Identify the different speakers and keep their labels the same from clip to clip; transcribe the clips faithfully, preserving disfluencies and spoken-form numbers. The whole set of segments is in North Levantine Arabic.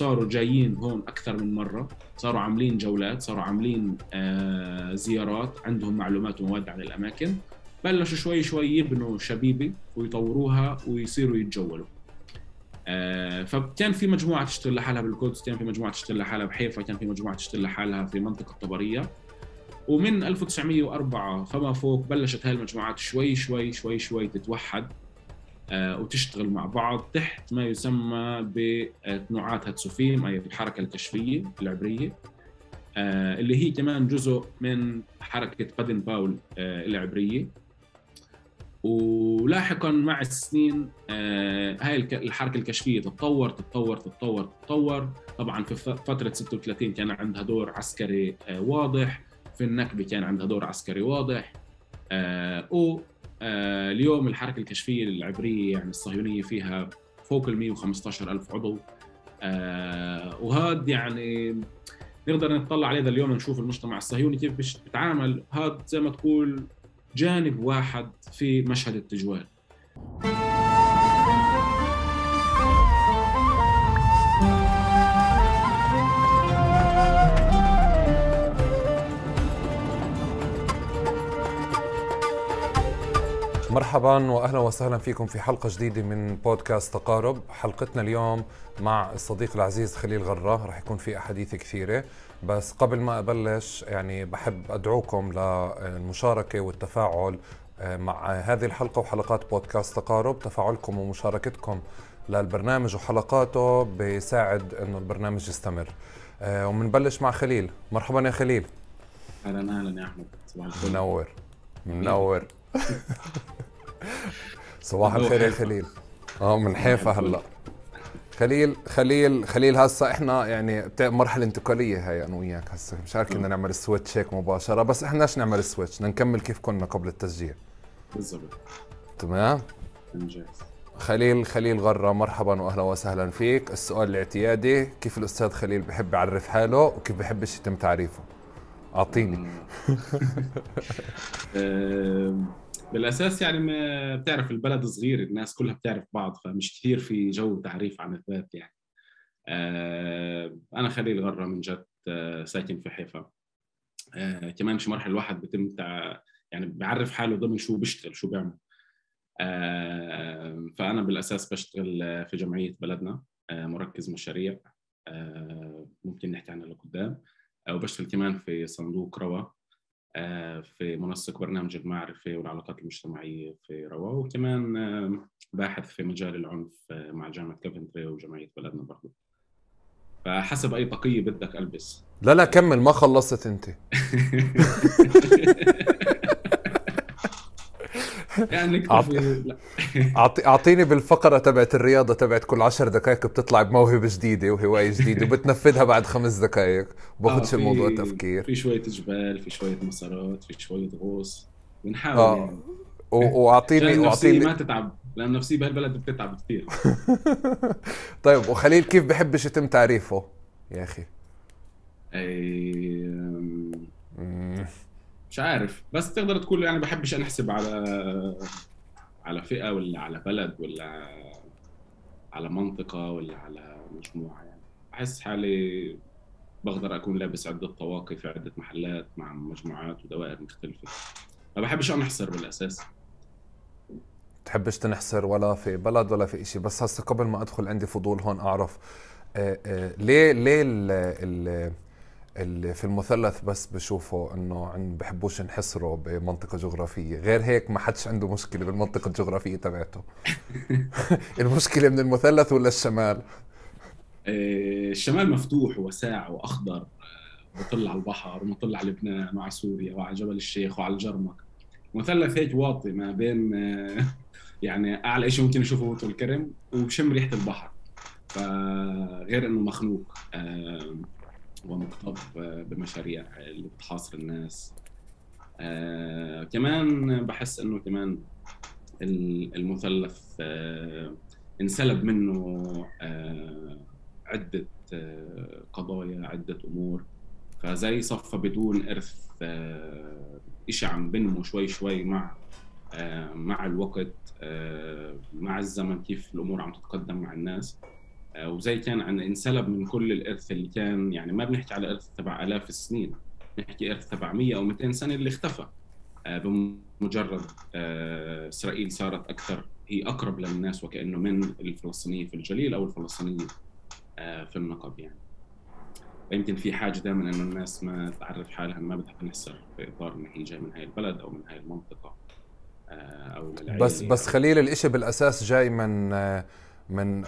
Speaker 1: صاروا جايين هون أكثر من مرة، صاروا عاملين جولات، صاروا عاملين آه زيارات، عندهم معلومات ومواد عن الأماكن. بلشوا شوي شوي يبنوا شبيبة ويطوروها ويصيروا يتجولوا. آه فكان في مجموعة تشتغل لحالها بالقدس، كان في مجموعة تشتغل لحالها بحيفا، كان في مجموعة تشتغل لحالها في منطقة طبرية. ومن ألف وتسعمية وأربعة فما فوق بلشت هاي المجموعات شوي شوي شوي شوي تتوحد آه وتشتغل مع بعض تحت ما يسمى بتنوعات هاتسوفيم، أي الحركة الكشفية العبرية، آه اللي هي كمان جزء من حركة بادن باول آه العبرية. ولاحقا مع السنين آه هاي الحركة الكشفية تتطور تتطور تتطور تتطور. طبعا في فترة ستة وثلاثين كان عندها دور عسكري آه واضح، في النكبة كان عندها دور عسكري واضح. آه و آه اليوم الحركة الكشفية العبرية يعني الصهيونية فيها فوق ال مية وخمسة عشر ألف عضو. آه وهذا يعني نقدر نطلع عليه اليوم نشوف المجتمع الصهيوني كيف بيتعامل. هذا زي ما تقول جانب واحد في مشهد التجوال.
Speaker 2: مرحبا واهلا وسهلا فيكم في حلقه جديده من بودكاست تقارب. حلقتنا اليوم مع الصديق العزيز خليل غرة، رح يكون في احاديث كثيره، بس قبل ما ابلش يعني بحب ادعوكم للمشاركه والتفاعل مع هذه الحلقه وحلقات بودكاست تقارب. تفاعلكم ومشاركتكم للبرنامج وحلقاته بيساعد انه البرنامج يستمر. ومنبلش مع خليل. مرحبا يا خليل.
Speaker 1: اهلا اهلا يا احمد، صباح الخير.
Speaker 2: منور منور صباح الخير يا خليل. اه من حيفا هلا. خليل خليل خليل هسه احنا يعني مرحله انتقاليه هاي انا وياك. هسه مش عارف كنا نعمل السويتش هيك مباشره، بس احنا بدناش نعمل السويتش، بدنا نكمل كيف كنا قبل التسجيل.
Speaker 1: بالضبط.
Speaker 2: تمام.
Speaker 1: انجاز.
Speaker 2: خليل خليل غرة، مرحبا واهلا وسهلا فيك. السؤال الاعتيادي، كيف الاستاذ خليل بحب يعرف حاله وكيف بحبش يتم تعريفه؟ اعطيني.
Speaker 1: بالأساس يعني ما بتعرف البلد صغير، الناس كلها بتعرف بعض، فمش كثير في جو تعريف عن الذات يعني. آه أنا خليل غرة من جد، آه ساكن في حيفا. آه كمان مش مرحلة الواحد بتم تع... يعني بيعرف حاله ضمن شو بيشتغل شو بيعمل. آه فأنا بالأساس بشتغل في جمعية بلدنا، آه مركز مشاريع، آه ممكن نحكي عنها لقدام. آه وبشتغل كمان في صندوق روا، في منسق برنامج المعرفة والعلاقات المجتمعية في روا، وكمان باحث في مجال العنف مع جامعة كوفنتري وجمعية بلدنا برضو. فحسب أي طاقية بدك ألبس.
Speaker 2: لا لا كمل، ما خلصت أنت.
Speaker 1: يعني
Speaker 2: أعطي... أعطيني بالفقرة تبعت الرياضة تبعت كل عشر دقائق بتطلع بموهبة جديدة وهواية جديدة وبتنفذها بعد خمس دقائق، وباخدش
Speaker 1: آه
Speaker 2: الموضوع تفكير.
Speaker 1: في شوية جبال، في شوية مسارات، في شوية غوص، بنحاول
Speaker 2: آه.
Speaker 1: يعني.
Speaker 2: واعطيني
Speaker 1: واعطيني ما تتعب، لأن النفسية بهالبلد بتتعب كثير.
Speaker 2: طيب وخليل كيف بحبش يتم تعريفه يا أخي؟
Speaker 1: أي... مش عارف، بس تقدر تقول يعني بحبش أنحسب على على فئة ولا على بلد ولا على منطقة ولا على مجموعة. يعني أحس حالي بقدر أكون لابس عدة طواقي في عدة محلات مع مجموعات ودوائر مختلفة. ما بحبش أنحصر بالأساس.
Speaker 2: تحبش تنحصر ولا في بلد ولا في إشي. بس هسه قبل ما أدخل عندي فضول هون أعرف آآ آآ ليه ليه ال ال اللي في المثلث بس بشوفوا انه عن بحبوش ينحصروا بمنطقة جغرافية، غير هيك ما حدش عنده مشكلة بالمنطقة الجغرافية تبعته. المشكلة من المثلث ولا الشمال؟
Speaker 1: الشمال مفتوح وواسع واخضر، بطل على البحر ومطل على لبنان وعلى سوريا وعلى جبل الشيخ وعلى الجرمق. المثلث هيك واطي ما بين يعني اعلى شيء ممكن نشوفه طول الكرم وبشم ريحة البحر، فغير انه مخنوق ومكتظ بمشاريع اللي بتحاصر الناس. آه، كمان بحس انه كمان المثلث آه، انسلب منه آه، عدة آه، قضايا، عدة امور، فزي صفى بدون ارث. آه، اشي عم بنمو شوي شوي مع آه، مع الوقت، آه، مع الزمن، كيف الامور عم تتقدم مع الناس. وزي كان عن انسلب من كل الإرث اللي كان، يعني ما بنحكي على إرث تبع آلاف السنين، نحكي إرث تبع مية أو مئتين سنة اللي اختفى بمجرد إسرائيل صارت أكثر، هي أقرب للناس وكأنه من الفلسطينيين في الجليل أو الفلسطينيين في النقب. يعني يمكن في حاجة دائما إنه الناس ما تعرف حالها، ما بدها تنحصر في إطار إن هي جاي من هاي البلد أو من هاي المنطقة أو للعيلة.
Speaker 2: بس بس خليل الإشي بالأساس جاي من من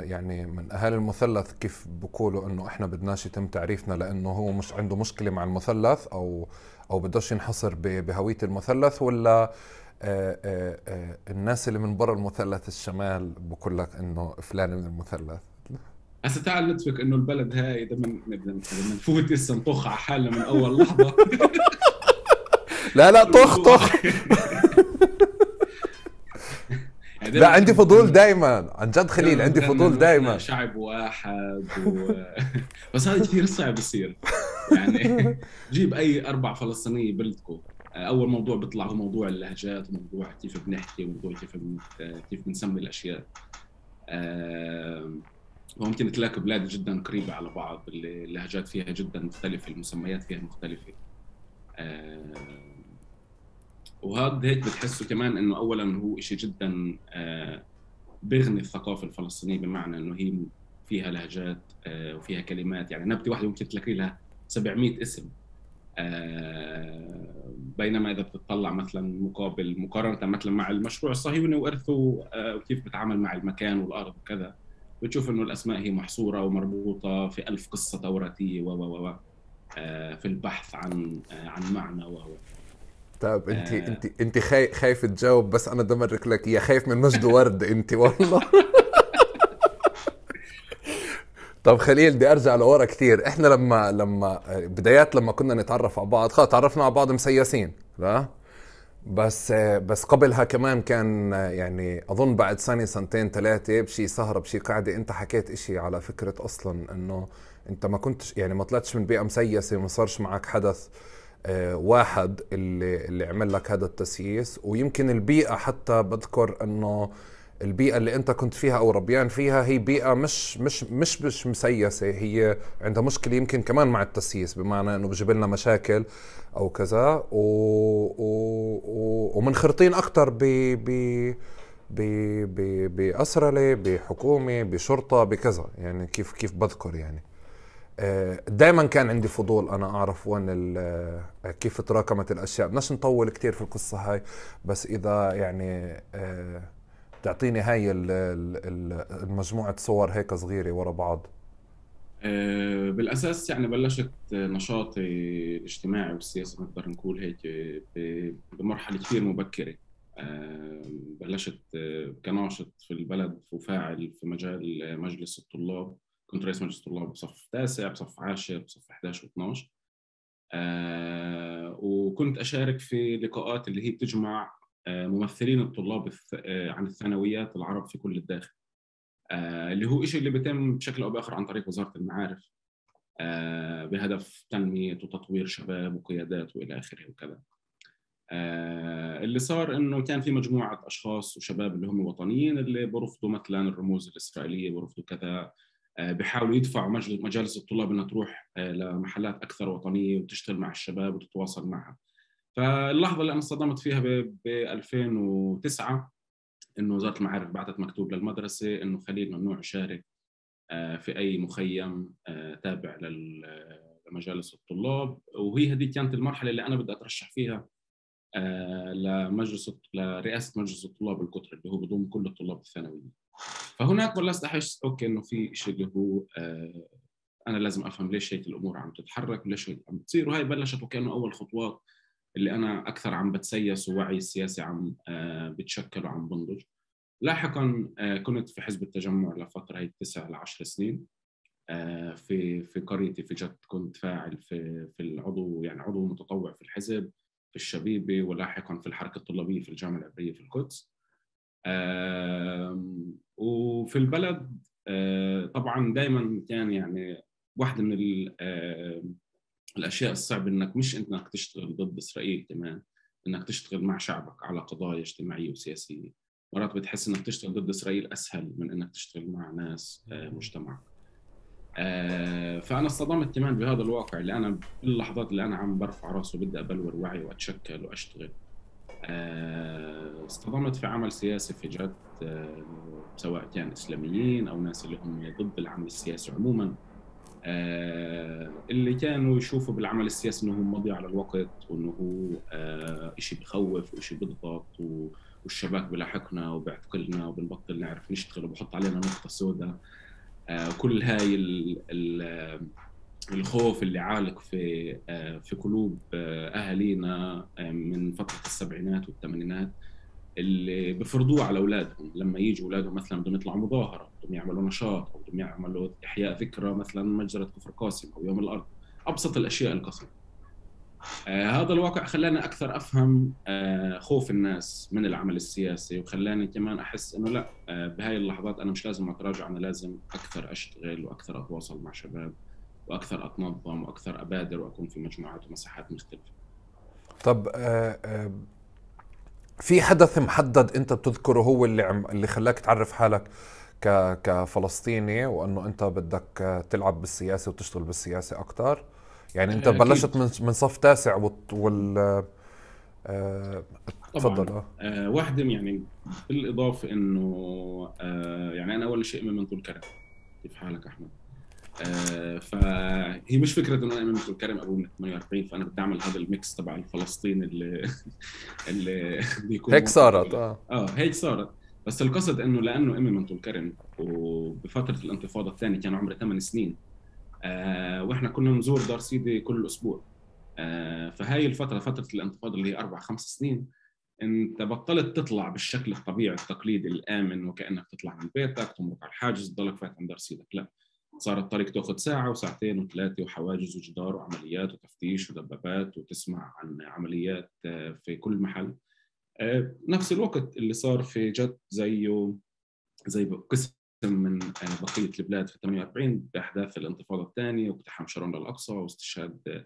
Speaker 2: يعني من أهالي المثلث، كيف بقولوا إنه إحنا بدناش يتم تعريفنا لأنه هو مش عنده مشكلة مع المثلث أو أو بدوش ينحصر بهوية المثلث، ولا آآ آآ الناس اللي من برا المثلث الشمال بقول لك إنه فلان من المثلث؟
Speaker 1: هسه تعال ندفك إنه البلد هاي إذا من بدنا نفوت هسه نطخ على حالنا من أول لحظة.
Speaker 2: لا لا طخ طخ. يعني لا عندي فضول دايما عن جد خليل، عندي فضول دايما.
Speaker 1: شعب واحد و... بس هذا كثير صعب يصير. يعني جيب أي أربع فلسطينية بلدكم، أول موضوع بيطلع هو موضوع اللهجات، وموضوع كيف بنحكي، وموضوع كيف كيف بنسمي الأشياء. وممكن تلاقي بلاد جدا قريبة على بعض، اللهجات فيها جدا مختلفة، المسميات فيها مختلفة. وهذا هيك بتحسه كمان إنه أولا هو إشي جدا بغني الثقافة الفلسطينية، بمعنى إنه هي فيها لهجات وفيها كلمات. يعني نبتة واحدة ممكن تلاقي لها سبعمئة اسم، بينما إذا بتطلع مثلا مقابل مقارنة مثلا مع المشروع الصهيوني وإرثه وكيف بتعامل مع المكان والأرض وكذا، بتشوف إنه الأسماء هي محصورة ومربوطة في ألف قصة توراتية و و و في البحث عن عن معنى و
Speaker 2: طيب انت آه انت انت خايف خايف تجاوب، بس انا دمرك لك يا خايف من مجد ورد انت والله. طب خليل بدي ارجع لورا كثير. احنا لما لما بدايات لما كنا نتعرف على بعض، خلاص تعرفنا على بعض مسيسين، لا بس بس قبلها كمان كان يعني اظن بعد سنه سنتين ثلاثه بشي سهره بشي قاعده انت حكيت اشي على فكره اصلا انه انت ما كنتش يعني ما طلعتش من بيئه مسيسه وما صارش معك حدث واحد اللي اللي عمل لك هذا التسييس. ويمكن البيئة حتى بذكر انه البيئة اللي انت كنت فيها او ربيان فيها هي بيئة مش مش مش مش مسيسة، هي عندها مشكلة يمكن كمان مع التسييس، بمعنى انه بجيب لنا مشاكل او كذا، و و و ومنخرطين اكتر ب ب ب بأسرلة، بحكومة، بشرطة، بكذا. يعني كيف كيف بذكر يعني دائما كان عندي فضول انا اعرف وين كيف تراكمت الاشياء. بدناش نطول كتير في القصه هاي، بس اذا يعني تعطيني هاي المجموعه صور هيك صغيره ورا بعض.
Speaker 1: بالاساس يعني بلشت نشاطي الاجتماعي والسياسي نقدر نقول هيك بمرحله كثير مبكره. بلشت كناشط في البلد وفاعل في مجال مجلس الطلاب، كنت رئيس مجلس الطلاب بصف تاسع، بصف عاشر، بصف إحدى عشر واثني عشر. آه وكنت أشارك في لقاءات اللي هي بتجمع آه ممثلين الطلاب آه عن الثانويات العرب في كل الداخل، آه اللي هو إشي اللي بيتم بشكل أو بآخر عن طريق وزارة المعارف، آه بهدف تنمية وتطوير شباب وقيادات وإلى آخره وكذا. آه اللي صار إنه كان في مجموعة أشخاص وشباب اللي هم وطنيين اللي برفضوا مثلا الرموز الإسرائيلية، برفضوا كذا، بيحاولوا يدفعوا مجالس الطلاب انها تروح لمحلات اكثر وطنيه وتشتغل مع الشباب وتتواصل معها. فاللحظه اللي انا صدمت فيها ب ألفين وتسعة انه وزاره المعارف بعثت مكتوب للمدرسه انه خليل ممنوع يشارك في اي مخيم تابع لمجالس الطلاب. وهي هذه كانت المرحله اللي انا بدي اترشح فيها لمجلس لرئاسه مجلس الطلاب القطري اللي هو بضم كل الطلاب الثانويين. فهناك بلشت احس اوكي انه في شيء اللي هو آه انا لازم افهم ليش هيك الامور عم تتحرك وليش هيك عم بتصير. وهي بلشت وكانه اول خطوات اللي انا اكثر عم بتسيس ووعي السياسي عم آه بتشكل وعم بنضج. لاحقا آه كنت في حزب التجمع لفتره هي تسع لعشر سنين آه في في قريتي في جد. كنت فاعل في في العضو يعني عضو متطوع في الحزب في الشبيبه، ولاحقا في الحركه الطلابيه في الجامعه العبريه في القدس. وفي البلد طبعا دائما كان يعني واحدة من الأشياء الصعبة إنك مش إنك تشتغل ضد إسرائيل، كمان إنك تشتغل مع شعبك على قضايا اجتماعية وسياسية. مرات بتحس انك تشتغل ضد اسرائيل اسهل من انك تشتغل مع ناس مجتمع. فانا اصطدمت كمان بهذا الواقع اللي انا باللحظات اللي انا عم برفع راسي وبدي ابلور وعي واتشكل واشتغل، اصطدمت في عمل سياسي في جد، سواء كان اسلاميين او ناس اللي هم ضد العمل السياسي عموما، اللي كانوا يشوفوا بالعمل السياسي انه هو مضيعة على الوقت، وانه هو اشي بخوف واشي بضغط، والشباك بلاحقنا وبيعتقلنا وبنبطل نعرف نشتغل وبحط علينا نقطة سوداء. كل هاي الخوف اللي عالق في في قلوب اهالينا من فترة السبعينات والثمانينات، اللي بفرضوه على اولادهم لما يجوا اولادهم مثلا بدهم يطلعوا مظاهره، بدهم يعملوا نشاط، او بدهم يعملوا احياء ذكرى مثلا مجزره كفر قاسم او يوم الارض، ابسط الاشياء القصيره. آه هذا الواقع خلاني اكثر افهم آه خوف الناس من العمل السياسي، وخلاني كمان احس انه لا، آه بهاي اللحظات انا مش لازم اتراجع، انا لازم اكثر اشتغل واكثر اتواصل مع شباب واكثر اتنظم واكثر ابادر واكون في مجموعات ومساحات مختلفه.
Speaker 2: طب آه آه في حدث محدد انت بتذكره هو اللي عم اللي خلاك تعرف حالك ك كفلسطيني، وانه انت بدك تلعب بالسياسه وتشتغل بالسياسه اكثر؟ يعني انت أكيد. بلشت من من صف تاسع وال آه تفضل.
Speaker 1: آه واحده يعني بالاضافه انه آه يعني انا اول شيء من طول كرم. كيف حالك احمد؟ آه فهي مش فكره انه انا من طول كرم ابو من ثمانية وأربعين، فانا بدي اعمل هذا الميكس تبع الفلسطين اللي اللي بيكون
Speaker 2: هيك صارت. اه
Speaker 1: اه هيك صارت. بس القصد انه لانه امي من طول كرم، وبفتره الانتفاضه الثانيه كان عمري ثمان سنين، آه واحنا كنا نزور دار سيدي كل اسبوع. آه فهاي الفتره فتره الانتفاضه اللي هي اربع خمس سنين، انت بطلت تطلع بالشكل الطبيعي التقليدي الامن، وكانك تطلع من بيتك تمرق على الحاجز تضلك فات عند دار سيدك. لا، صار الطريق تاخذ ساعه وساعتين وثلاثه، وحواجز وجدار وعمليات وتفتيش ودبابات، وتسمع عن عمليات في كل محل. نفس الوقت اللي صار في جد زيه زي قسم من بقيه البلاد في ثمانية وأربعين باحداث الانتفاضه الثانيه، واقتحام شارون للاقصى واستشهاد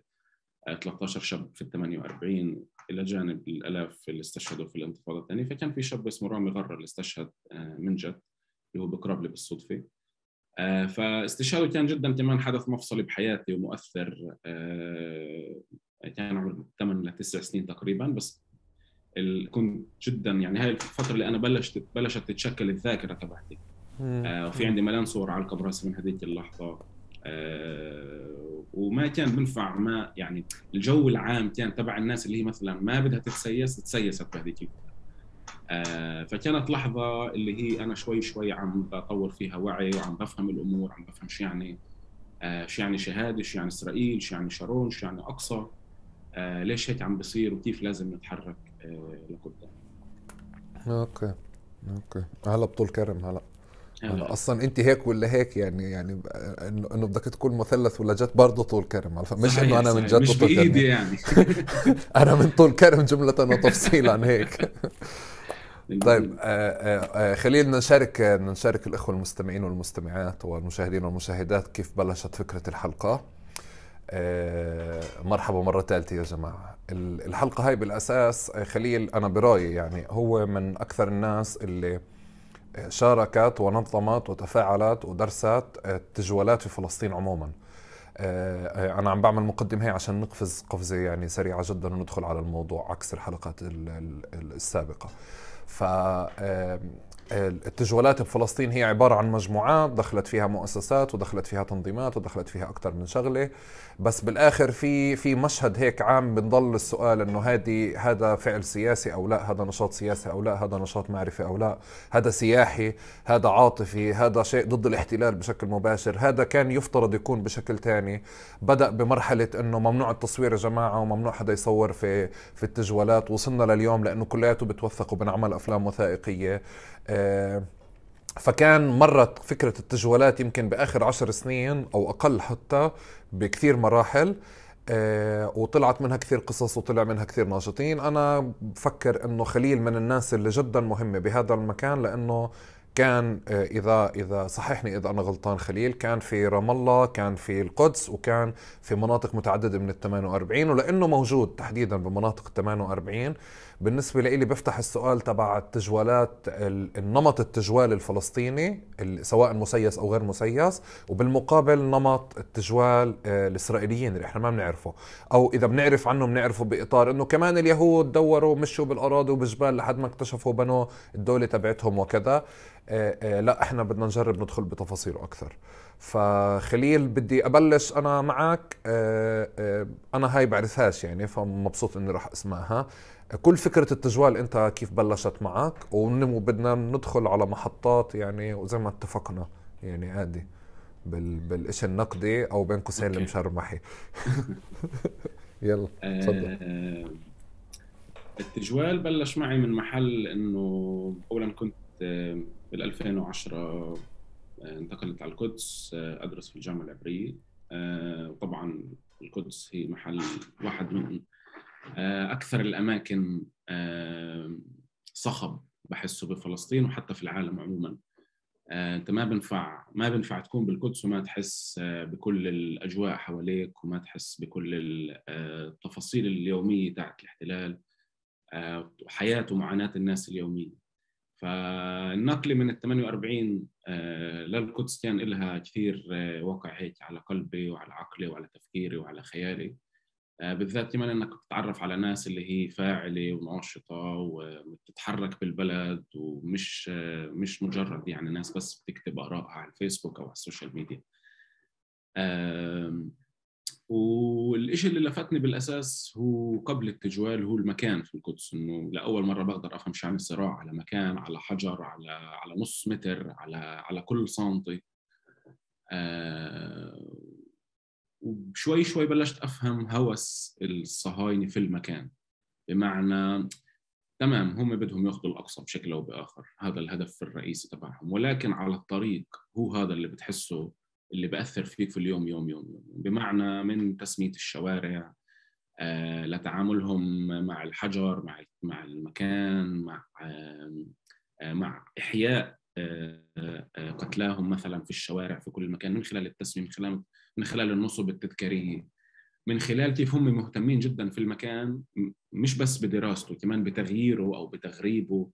Speaker 1: ثلاثة عشر شاب في ثمانية وأربعين، الى جانب الالاف اللي استشهدوا في الانتفاضه الثانيه. فكان في شاب اسمه رامي غرة اللي استشهد من جد، اللي هو بقرب لي بالصدفه. فاستشهاده كان جدا كمان حدث مفصلي بحياتي ومؤثر. كان عمري ثمان لتسع سنين تقريبا، بس كنت جدا يعني هاي الفتره اللي انا بلشت بلشت تتشكل الذاكره تبعتي، وفي عندي ملان صور على الكبراسي من هذيك اللحظه. وما كان بنفع، ما يعني الجو العام كان تبع الناس اللي هي مثلا ما بدها تتسيس تسيست بهذيك الفتره. آه فكانت لحظة اللي هي أنا شوي شوي عم بطور فيها وعي، وعم بفهم الأمور، عم بفهم شو يعني آه شو يعني شهادة، شو يعني إسرائيل، شو يعني شارون، شو يعني أقصى، آه ليش هيك عم بصير، وكيف لازم نتحرك آه لقدام.
Speaker 2: أوكي أوكي هلا بطول كرم. هلا هلا أصلا أنت هيك ولا هيك؟ يعني يعني إنه إنه بدك تكون مثلث ولا جت برضه طول كرم؟ مش إنه أنا من جد
Speaker 1: مش بإيدي يعني
Speaker 2: أنا من طول كرم جملة وتفصيلا هيك. طيب آه آه خلينا نشارك نشارك الإخوة المستمعين والمستمعات والمشاهدين والمشاهدات كيف بلشت فكرة الحلقة. آه مرحبا مرة ثالثة يا جماعة. الحلقة هاي بالأساس خليل أنا برأيي يعني هو من أكثر الناس اللي شاركت ونظمت وتفاعلت ودرست التجوالات في فلسطين عموما. آه أنا عم بعمل مقدمة هي عشان نقفز قفزة يعني سريعة جدا وندخل على الموضوع عكس الحلقات السابقة. فالتجوالات بفلسطين هي عبارة عن مجموعات دخلت فيها مؤسسات ودخلت فيها تنظيمات ودخلت فيها أكثر من شغلة، بس بالآخر في في مشهد هيك عام بنضل السؤال إنه هذه هذا فعل سياسي أو لا، هذا نشاط سياسي أو لا، هذا نشاط معرفي أو لا، هذا سياحي، هذا عاطفي، هذا شيء ضد الاحتلال بشكل مباشر، هذا كان يفترض يكون بشكل تاني. بدأ بمرحلة إنه ممنوع التصوير يا جماعة وممنوع حدا يصور في في التجوالات، وصلنا لليوم لأنه كلياته بتوثق وبنعمل أفلام وثائقية. آه فكان مرت فكرة التجوالات يمكن بآخر عشر سنين أو أقل حتى بكثير مراحل، آه وطلعت منها كثير قصص وطلع منها كثير ناشطين. أنا بفكر أنه خليل من الناس اللي جدا مهمة بهذا المكان، لأنه كان إذا إذا صححني إذا أنا غلطان خليل، كان في رام الله، كان في القدس، وكان في مناطق متعددة من الثمانية وأربعين. ولأنه موجود تحديدا بمناطق الثمانية وأربعين، بالنسبة لي بفتح السؤال تبع التجوالات، النمط التجوال الفلسطيني سواء مسيس أو غير مسيس، وبالمقابل نمط التجوال الإسرائيليين اللي إحنا ما بنعرفه، أو إذا بنعرف عنه بنعرفه بإطار إنه كمان اليهود دوروا مشوا بالأراضي وبالجبال لحد ما اكتشفوا بنوا الدولة تبعتهم وكذا. لا إحنا بدنا نجرب ندخل بتفاصيله أكثر. فخليل بدي أبلش أنا معك. أنا هاي بعرفهاش يعني، فمبسوط إني راح أسمعها. كل فكرة التجوال أنت كيف بلشت معك، وبدنا ندخل على محطات يعني وزي ما اتفقنا يعني عادي بال... بالإشي النقدي أو بين قوسين المشرمحي. يلا تفضل.
Speaker 1: آه التجوال بلش معي من محل إنه أولا كنت بال ألفين وعشرة انتقلت على القدس أدرس في الجامعة العبرية. وطبعا القدس هي محل واحد من أكثر الأماكن صخب بحسه بفلسطين وحتى في العالم عموما. أنت ما بنفع ما بنفع تكون بالقدس وما تحس بكل الأجواء حواليك، وما تحس بكل التفاصيل اليومية تاعت الاحتلال وحياة ومعاناة الناس اليومية. فالنقل من ال ثمانية وأربعين للقدس كان لها كثير وقع هيك على قلبي وعلى عقلي وعلى تفكيري وعلى خيالي، بالذات كمان انك تتعرف على ناس اللي هي فاعلة وناشطة وبتتحرك بالبلد، ومش مش مجرد يعني ناس بس بتكتب آرائها على الفيسبوك او على السوشيال ميديا. والإشي اللي لفتني بالأساس هو قبل التجوال هو المكان في القدس، إنه لأول مرة بقدر أفهم شو يعني الصراع على مكان، على حجر، على على نص متر، على على كل سنتي. أه وشوي شوي بلشت أفهم هوس الصهاينة في المكان، بمعنى تمام هم بدهم ياخذوا الأقصى بشكل أو بآخر، هذا الهدف الرئيسي تبعهم، ولكن على الطريق هو هذا اللي بتحسه اللي بأثر فيك في اليوم يوم يوم, يوم. بمعنى من تسمية الشوارع آه لتعاملهم مع الحجر، مع مع المكان، مع آه مع إحياء آه آه قتلاهم مثلا في الشوارع في كل مكان، من خلال التسمية، من خلال من خلال النصب التذكارية، من خلال كيف هم مهتمين جدا في المكان، مش بس بدراسته كمان بتغييره أو بتغريبه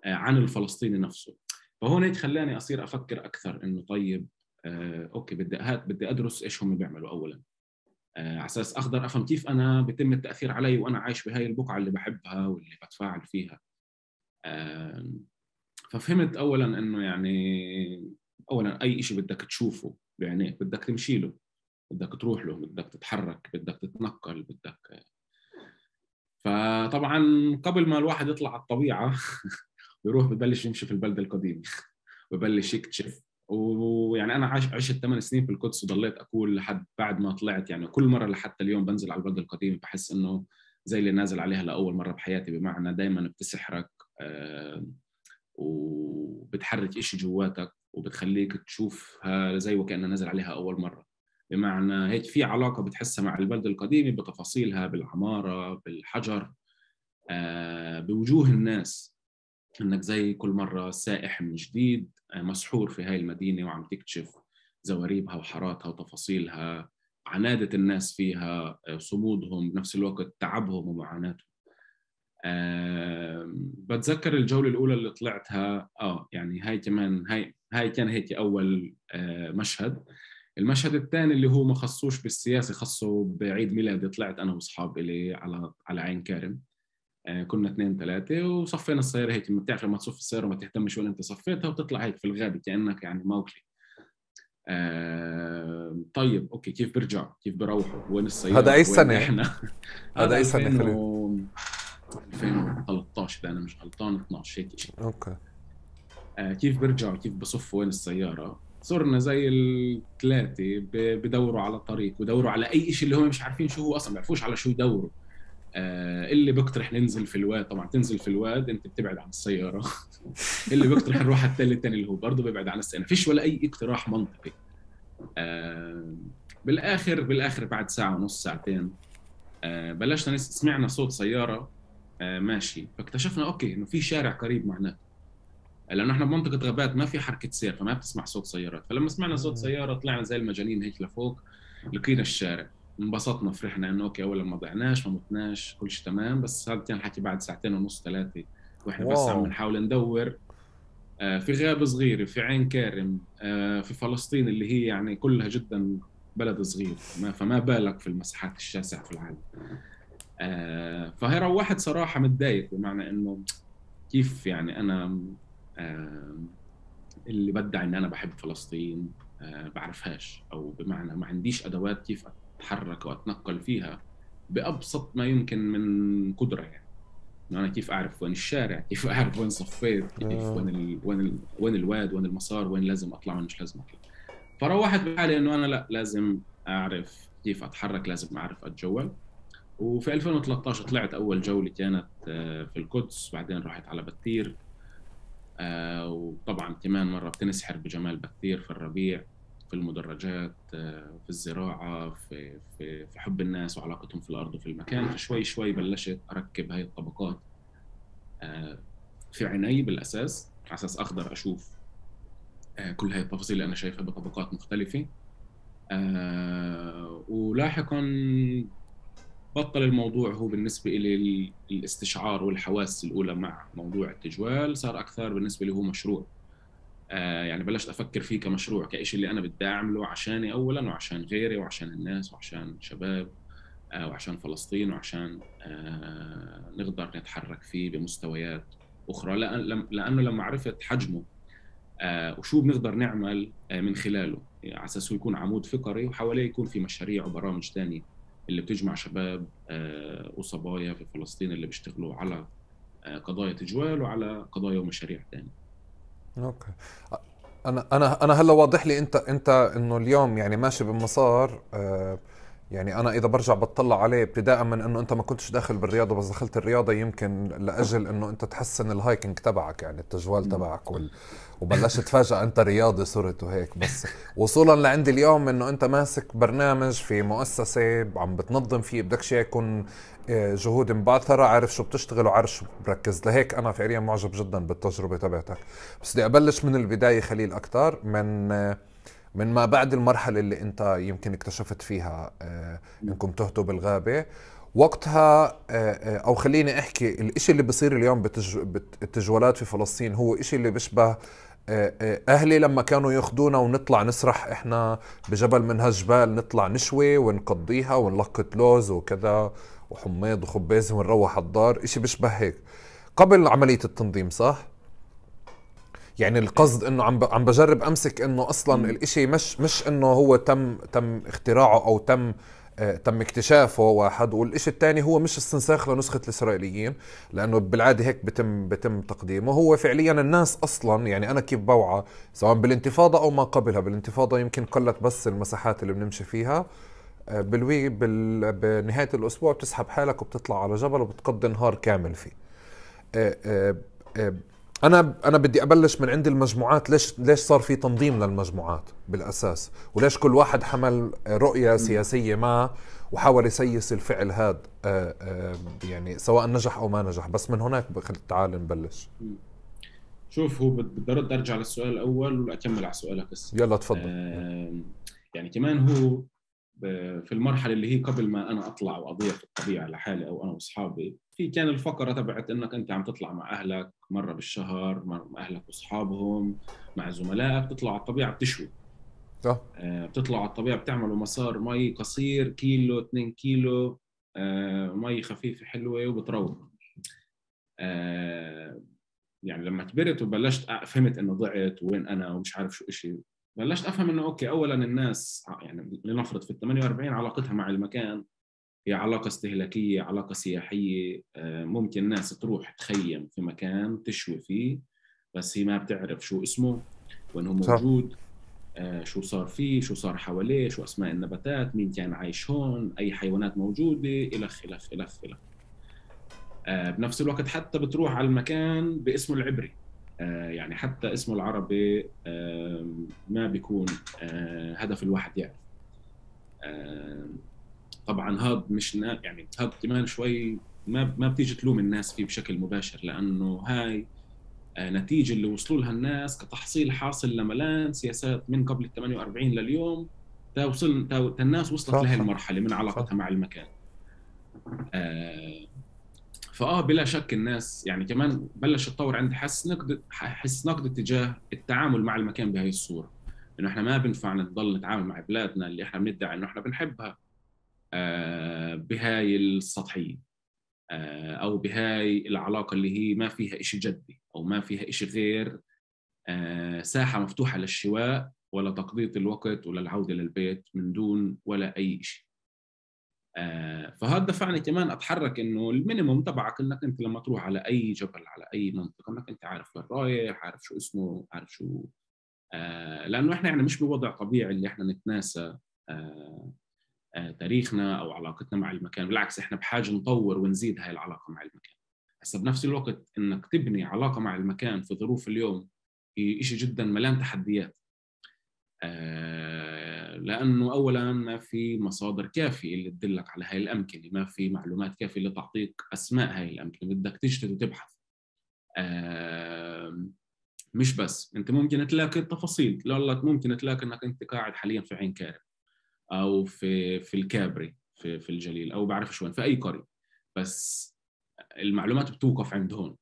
Speaker 1: آه عن الفلسطيني نفسه. فهون هيك خلاني أصير أفكر أكثر إنه طيب آه، أوكي بدي هات بدي أدرس إيش هم بيعملوا أولاً، آه، على أساس أقدر أفهم كيف أنا بيتم التأثير علي وأنا عايش بهاي البقعة اللي بحبها واللي بتفاعل فيها. آه، ففهمت أولاً إنه يعني أولاً أي إشي بدك تشوفه بعينيك بدك تمشي له، بدك تروح له، بدك تتحرك، بدك تتنقل، بدك. فطبعاً قبل ما الواحد يطلع على الطبيعة ويروح ببلش يمشي في البلدة القديمة وبلش يكتشف. ويعني انا عايش عشت ثمان سنين في القدس وضليت اقول لحد بعد ما طلعت، يعني كل مره لحتى اليوم بنزل على البلده القديمه بحس انه زي اللي نازل عليها لاول مره بحياتي، بمعنى دائما بتسحرك آه وبتحرك إشي جواتك وبتخليك تشوفها زي وكأنها نازل عليها اول مره. بمعنى هيك في علاقه بتحسها مع البلده القديمه بتفاصيلها، بالعماره، بالحجر، آه بوجوه الناس، انك زي كل مره سائح من جديد مسحور في هاي المدينه وعم تكتشف زواريبها وحاراتها وتفاصيلها، عنادة الناس فيها، صمودهم، بنفس الوقت تعبهم ومعاناتهم. أه بتذكر الجولة الأولى اللي طلعتها اه يعني هاي كمان هاي هاي كان هيك أول أه مشهد. المشهد الثاني اللي هو ما خصوش بالسياسة، خصه بعيد ميلادي، طلعت أنا وأصحاب إلي على على عين كارم. كنا اثنين ثلاثة وصفينا السيارة هيك، بتعرف لما تصف السيارة ما تهتمش ولا انت صفيتها وتطلع هيك في الغابة كأنك يعني موكلي. آه طيب اوكي كيف برجعوا، كيف بروحوا، وين السيارة،
Speaker 2: هذا اي سنة
Speaker 1: احنا؟
Speaker 2: هذا اي سنة
Speaker 1: ألفين وثلاثة عشر اذا انا مش غلطان، اثناشر هيك شيء.
Speaker 2: اوكي.
Speaker 1: آه كيف برجعوا، كيف بصفوا وين السيارة؟ صرنا زي الثلاثة بدوروا على طريق ودوروا على اي شيء اللي هم مش عارفين شو هو اصلا، ما بيعرفوش على شو يدوروا. آه اللي بقترح ننزل في الواد، طبعا تنزل في الواد انت بتبعد عن السياره. اللي بقترح نروح على التل الثاني اللي هو برضه بيبعد عن السياره، فيش ولا اي اقتراح منطقي. آه بالاخر بالاخر بعد ساعه ونص ساعتين آه بلشنا سمعنا صوت سياره آه ماشي، فاكتشفنا اوكي انه في شارع قريب معنا. لانه احنا بمنطقه غابات ما في حركه سير، فما بتسمع صوت سيارات. فلما سمعنا صوت
Speaker 2: مم.
Speaker 1: سياره طلعنا زي المجانين هيك لفوق، لقينا الشارع، انبسطنا، فرحنا انه اوكي اولا ما ضعناش ما متناش، كل شيء تمام. بس هذا كان الحكي بعد ساعتين ونص ثلاثه، واحنا بس
Speaker 2: واو.
Speaker 1: عم نحاول ندور آه، في غابه صغيره، في عين كارم، آه، في فلسطين اللي هي يعني كلها جدا بلد صغير، ما فما بالك في المساحات الشاسعه في العالم. آه، فهي روحت صراحه متضايق، بمعنى انه كيف يعني انا آه، اللي بدعي ان انا بحب فلسطين آه، بعرفهاش، او بمعنى ما عنديش ادوات كيف اتحرك واتنقل فيها بابسط ما يمكن من قدره. يعني إنه انا كيف اعرف وين الشارع، كيف اعرف وين صفيت، كيف
Speaker 2: آه.
Speaker 1: وين ال... وين ال... وين الواد، وين المسار، وين لازم اطلع وين مش لازم اطلع. فروحت بحالي انه انا لا، لازم اعرف كيف اتحرك، لازم اعرف اتجول. وفي ألفين وثلاثة عشر طلعت اول جوله كانت آه، في القدس، بعدين رحت على بتير. آه، وطبعا كمان مرة بتنسحر بجمال بكثير في الربيع، في المدرجات، آه، في الزراعة، في, في, في حب الناس وعلاقتهم في الأرض وفي المكان. فشوي شوي بلشت أركب هاي الطبقات آه، في عيني بالأساس، على أساس أقدر أشوف آه، كل هاي التفاصيل اللي أنا شايفها بطبقات مختلفة. آه، ولاحقا بطل الموضوع هو بالنسبة لي الاستشعار والحواس الأولى مع موضوع التجوال، صار أكثر بالنسبة لي هو مشروع. آه يعني بلشت افكر فيه كمشروع، كإشي اللي انا بدي اعمله عشاني اولا، وعشان غيري، وعشان الناس، وعشان شباب، آه وعشان فلسطين، وعشان آه نقدر نتحرك فيه بمستويات اخرى. لأن لانه لما عرفت حجمه آه وشو بنقدر نعمل آه من خلاله، يعني على اساس يكون عمود فقري، وحواليه يكون في مشاريع وبرامج ثانيه اللي بتجمع شباب آه وصبايا في فلسطين اللي بيشتغلوا على آه قضايا تجوال وعلى قضايا ومشاريع ثانيه.
Speaker 2: اوكي. انا انا انا هلا واضح لي انت انت انه اليوم يعني ماشي بمسار. آه يعني انا اذا برجع بتطلع عليه ابتداء من انه انت ما كنتش داخل بالرياضه، بس دخلت الرياضه يمكن لاجل انه انت تحسن الهايكنج تبعك، يعني التجوال تبعك وال... وبلشت فجاه انت رياضي صرت وهيك. بس وصولا لعندي اليوم انه انت ماسك برنامج في مؤسسه عم بتنظم فيه، بدك شيء يكون آه، جهود مبعثره، عارف شو بتشتغل وعارف شو بركز. لهيك انا فعليا معجب جدا بالتجربه تبعتك. بس بدي ابلش من البدايه خليل اكثر من آه، من ما بعد المرحلة اللي انت يمكن اكتشفت فيها آه انكم تهتوا بالغابة وقتها. آه آه او خليني احكي الاشي اللي بصير اليوم بتج... بالتجولات في فلسطين هو اشي اللي بيشبه آه آه اهلي لما كانوا ياخدونا ونطلع نسرح احنا بجبل من هالجبال، نطلع نشوي ونقضيها ونلقط لوز وكذا وحميض وخباز ونروح على الدار. اشي بيشبه هيك قبل عملية التنظيم، صح؟ يعني القصد انه عم عم بجرب امسك انه اصلا الاشي مش مش انه هو تم تم اختراعه او تم آه تم اكتشافه واحد، والاشي الثاني هو مش استنساخ لنسخة الاسرائيليين، لانه بالعادة هيك بتم بتم تقديمه. هو فعليا الناس اصلا يعني انا كيف بوعى سواء بالانتفاضة او ما قبلها. بالانتفاضة يمكن قلت بس المساحات اللي بنمشي فيها. آه بالوي بال بنهاية الاسبوع بتسحب حالك وبتطلع على جبل وبتقضي نهار كامل فيه. آه آه آه انا انا بدي ابلش من عند المجموعات. ليش ليش صار في تنظيم للمجموعات بالاساس، وليش كل واحد حمل رؤية سياسية ما وحاول يسيس الفعل هذا آه آه يعني سواء نجح او ما نجح. بس من هناك تعال نبلش.
Speaker 1: شوف، هو بدي ارد ارجع للسؤال الاول ولا اكمل على سؤالك هسه؟
Speaker 2: يلا تفضل.
Speaker 1: آه يعني كمان هو في المرحله اللي هي قبل ما انا اطلع واضيع في الطبيعه لحالي او انا واصحابي، في كان الفقره تبعت انك انت عم تطلع مع اهلك مره بالشهر، مع اهلك واصحابهم، مع زملائك، بتطلعوا على الطبيعه بتشوي.
Speaker 2: صح.
Speaker 1: آه بتطلعوا على الطبيعه بتعملوا مسار مي قصير، كيلو اثنين كيلو، آه مي خفيفه حلوه، وبتروحوا. آه يعني لما كبرت وبلشت فهمت انه ضعت وين انا ومش عارف شو اشي، بلشت افهم انه اوكي، اولا الناس يعني لنفرض في ال ثمانية وأربعين علاقتها مع المكان هي علاقة استهلاكية، علاقة سياحية. ممكن ناس تروح تخيم في مكان تشوي فيه، بس هي ما بتعرف شو اسمه، وين هو
Speaker 2: صح.
Speaker 1: موجود، شو صار فيه، شو صار حواليه، شو اسماء النباتات، مين كان عايش هون، اي حيوانات موجودة، الخ الخ الخ الخ. بنفس الوقت حتى بتروح على المكان باسمه العبري، يعني حتى اسمه العربي ما بيكون هدف الواحد يعرف. طبعا هذا مش يعني هذا كمان شوي ما ما بتيجي تلوم الناس فيه بشكل مباشر، لانه هاي نتيجة اللي وصلوا لها الناس كتحصيل حاصل لملان سياسات من قبل الثمانية وأربعين لليوم، تا وصل تا الناس وصلت لهي المرحلة من علاقتها مع المكان. آه فآه بلا شك الناس يعني كمان بلش تطور عند حس نقد حس نقد تجاه التعامل مع المكان بهاي الصورة، إنه إحنا ما بنفع نضل نتعامل مع بلادنا اللي إحنا بندعي إنه إحنا بنحبها آه بهاي السطحية، آه أو بهاي العلاقة اللي هي ما فيها إشي جدي أو ما فيها إشي غير آه ساحة مفتوحة للشواء ولا تقضية الوقت ولا العودة للبيت من دون ولا أي شيء. آه فهذا دفعني كمان أتحرك إنه المينيموم تبعك إنك أنت لما تروح على أي جبل على أي منطقة إنك أنت عارف وين رايح، عارف شو اسمه، عارف شو آه لأنه إحنا يعني مش بوضع طبيعي اللي إحنا نتناسى آه آه تاريخنا أو علاقتنا مع المكان، بالعكس إحنا بحاجة نطور ونزيد هاي العلاقة مع المكان. هسه بنفس الوقت إنك تبني علاقة مع المكان في ظروف اليوم هي إشي جدا مليان تحديات، آه لأنه أولاً ما في مصادر كافية اللي تدلك على هاي الأمكنة، ما في معلومات كافية اللي تعطيك أسماء هاي الأمكنة، بدك تجتهد وتبحث. آه مش بس أنت ممكن تلاقي التفاصيل، لك ممكن تلاقي أنك أنت قاعد حالياً في عين كارم أو في في الكابري في في الجليل أو بعرف شو وين في أي قرية، بس المعلومات بتوقف عند هون.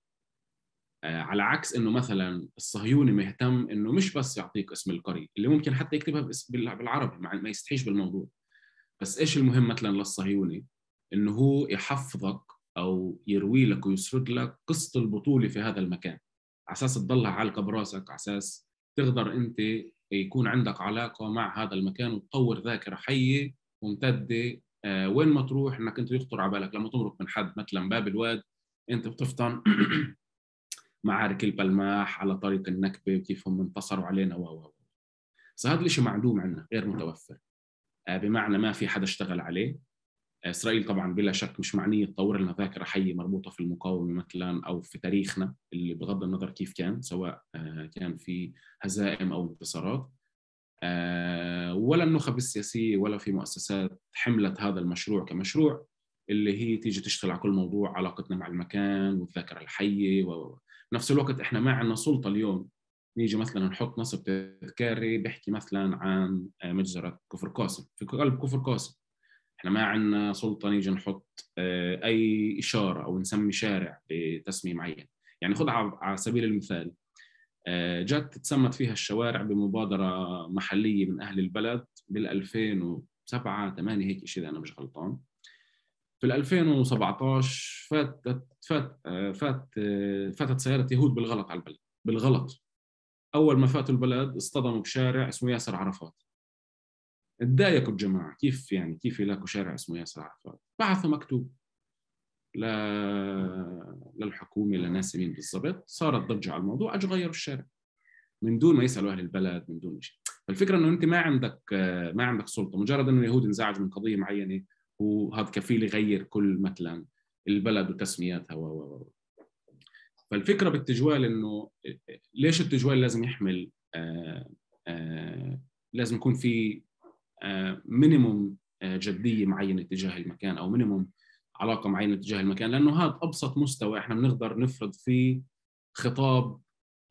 Speaker 1: آه على عكس انه مثلا الصهيوني مهتم انه مش بس يعطيك اسم القرية اللي ممكن حتى يكتبها بالعربي ما يستحيش بالموضوع، بس ايش المهم مثلا للصهيوني؟ انه هو يحفظك او يروي لك ويسرد لك قصة البطولة في هذا المكان، على اساس تضلها عالقة براسك، على اساس تقدر انت يكون عندك علاقة مع هذا المكان وتطور ذاكرة حية ممتدة. آه وين ما تروح انك انت يخطر على بالك لما تمرق من حد مثلا باب الواد انت بتفطن معارك البلماح على طريق النكبة وكيف هم انتصروا علينا و و بس هذا الشيء معدوم عنا، غير متوفر، بمعنى ما في حدا اشتغل عليه. إسرائيل طبعا بلا شك مش معنية تطور لنا ذاكرة حية مربوطة في المقاومة مثلا أو في تاريخنا اللي بغض النظر كيف كان، سواء كان في هزائم أو انتصارات، ولا النخب السياسية ولا في مؤسسات حملت هذا المشروع كمشروع اللي هي تيجي تشتغل على كل موضوع علاقتنا مع المكان والذاكرة الحية. ونفس الوقت إحنا ما عندنا سلطة اليوم نيجي مثلا نحط نصب تذكاري بيحكي مثلا عن مجزرة كفر قاسم في قلب كفر قاسم، إحنا ما عندنا سلطة نيجي نحط أي إشارة أو نسمي شارع بتسمية معين. يعني خذ على سبيل المثال جت تسمت فيها الشوارع بمبادرة محلية من أهل البلد بالألفين وسبعة ثمانية هيك شيء إذا أنا مش غلطان. في ألفين وسبعطعش فاتت فات فات فاتت سيارة يهود بالغلط على البلد بالغلط. أول ما فاتوا البلد اصطدموا بشارع اسمه ياسر عرفات. اتضايقوا الجماعة، كيف يعني كيف يلاقوا شارع اسمه ياسر عرفات؟ بعثوا مكتوب ل... للحكومة لناس مين بالضبط، صارت ضجة على الموضوع، أجوا غيروا الشارع من دون ما يسألوا أهل البلد من دون شيء. فالفكرة إنه أنت ما عندك ما عندك سلطة، مجرد إنه اليهود انزعجوا من قضية معينة وهذا كفيل يغير كل مثلا البلد وتسمياتها و و فالفكرة بالتجوال إنه ليش التجوال لازم يحمل آآ آآ لازم يكون في مينيموم جدية معينة تجاه المكان أو مينيموم علاقة معينة تجاه المكان، لأنه هذا أبسط مستوى إحنا بنقدر نفرض فيه خطاب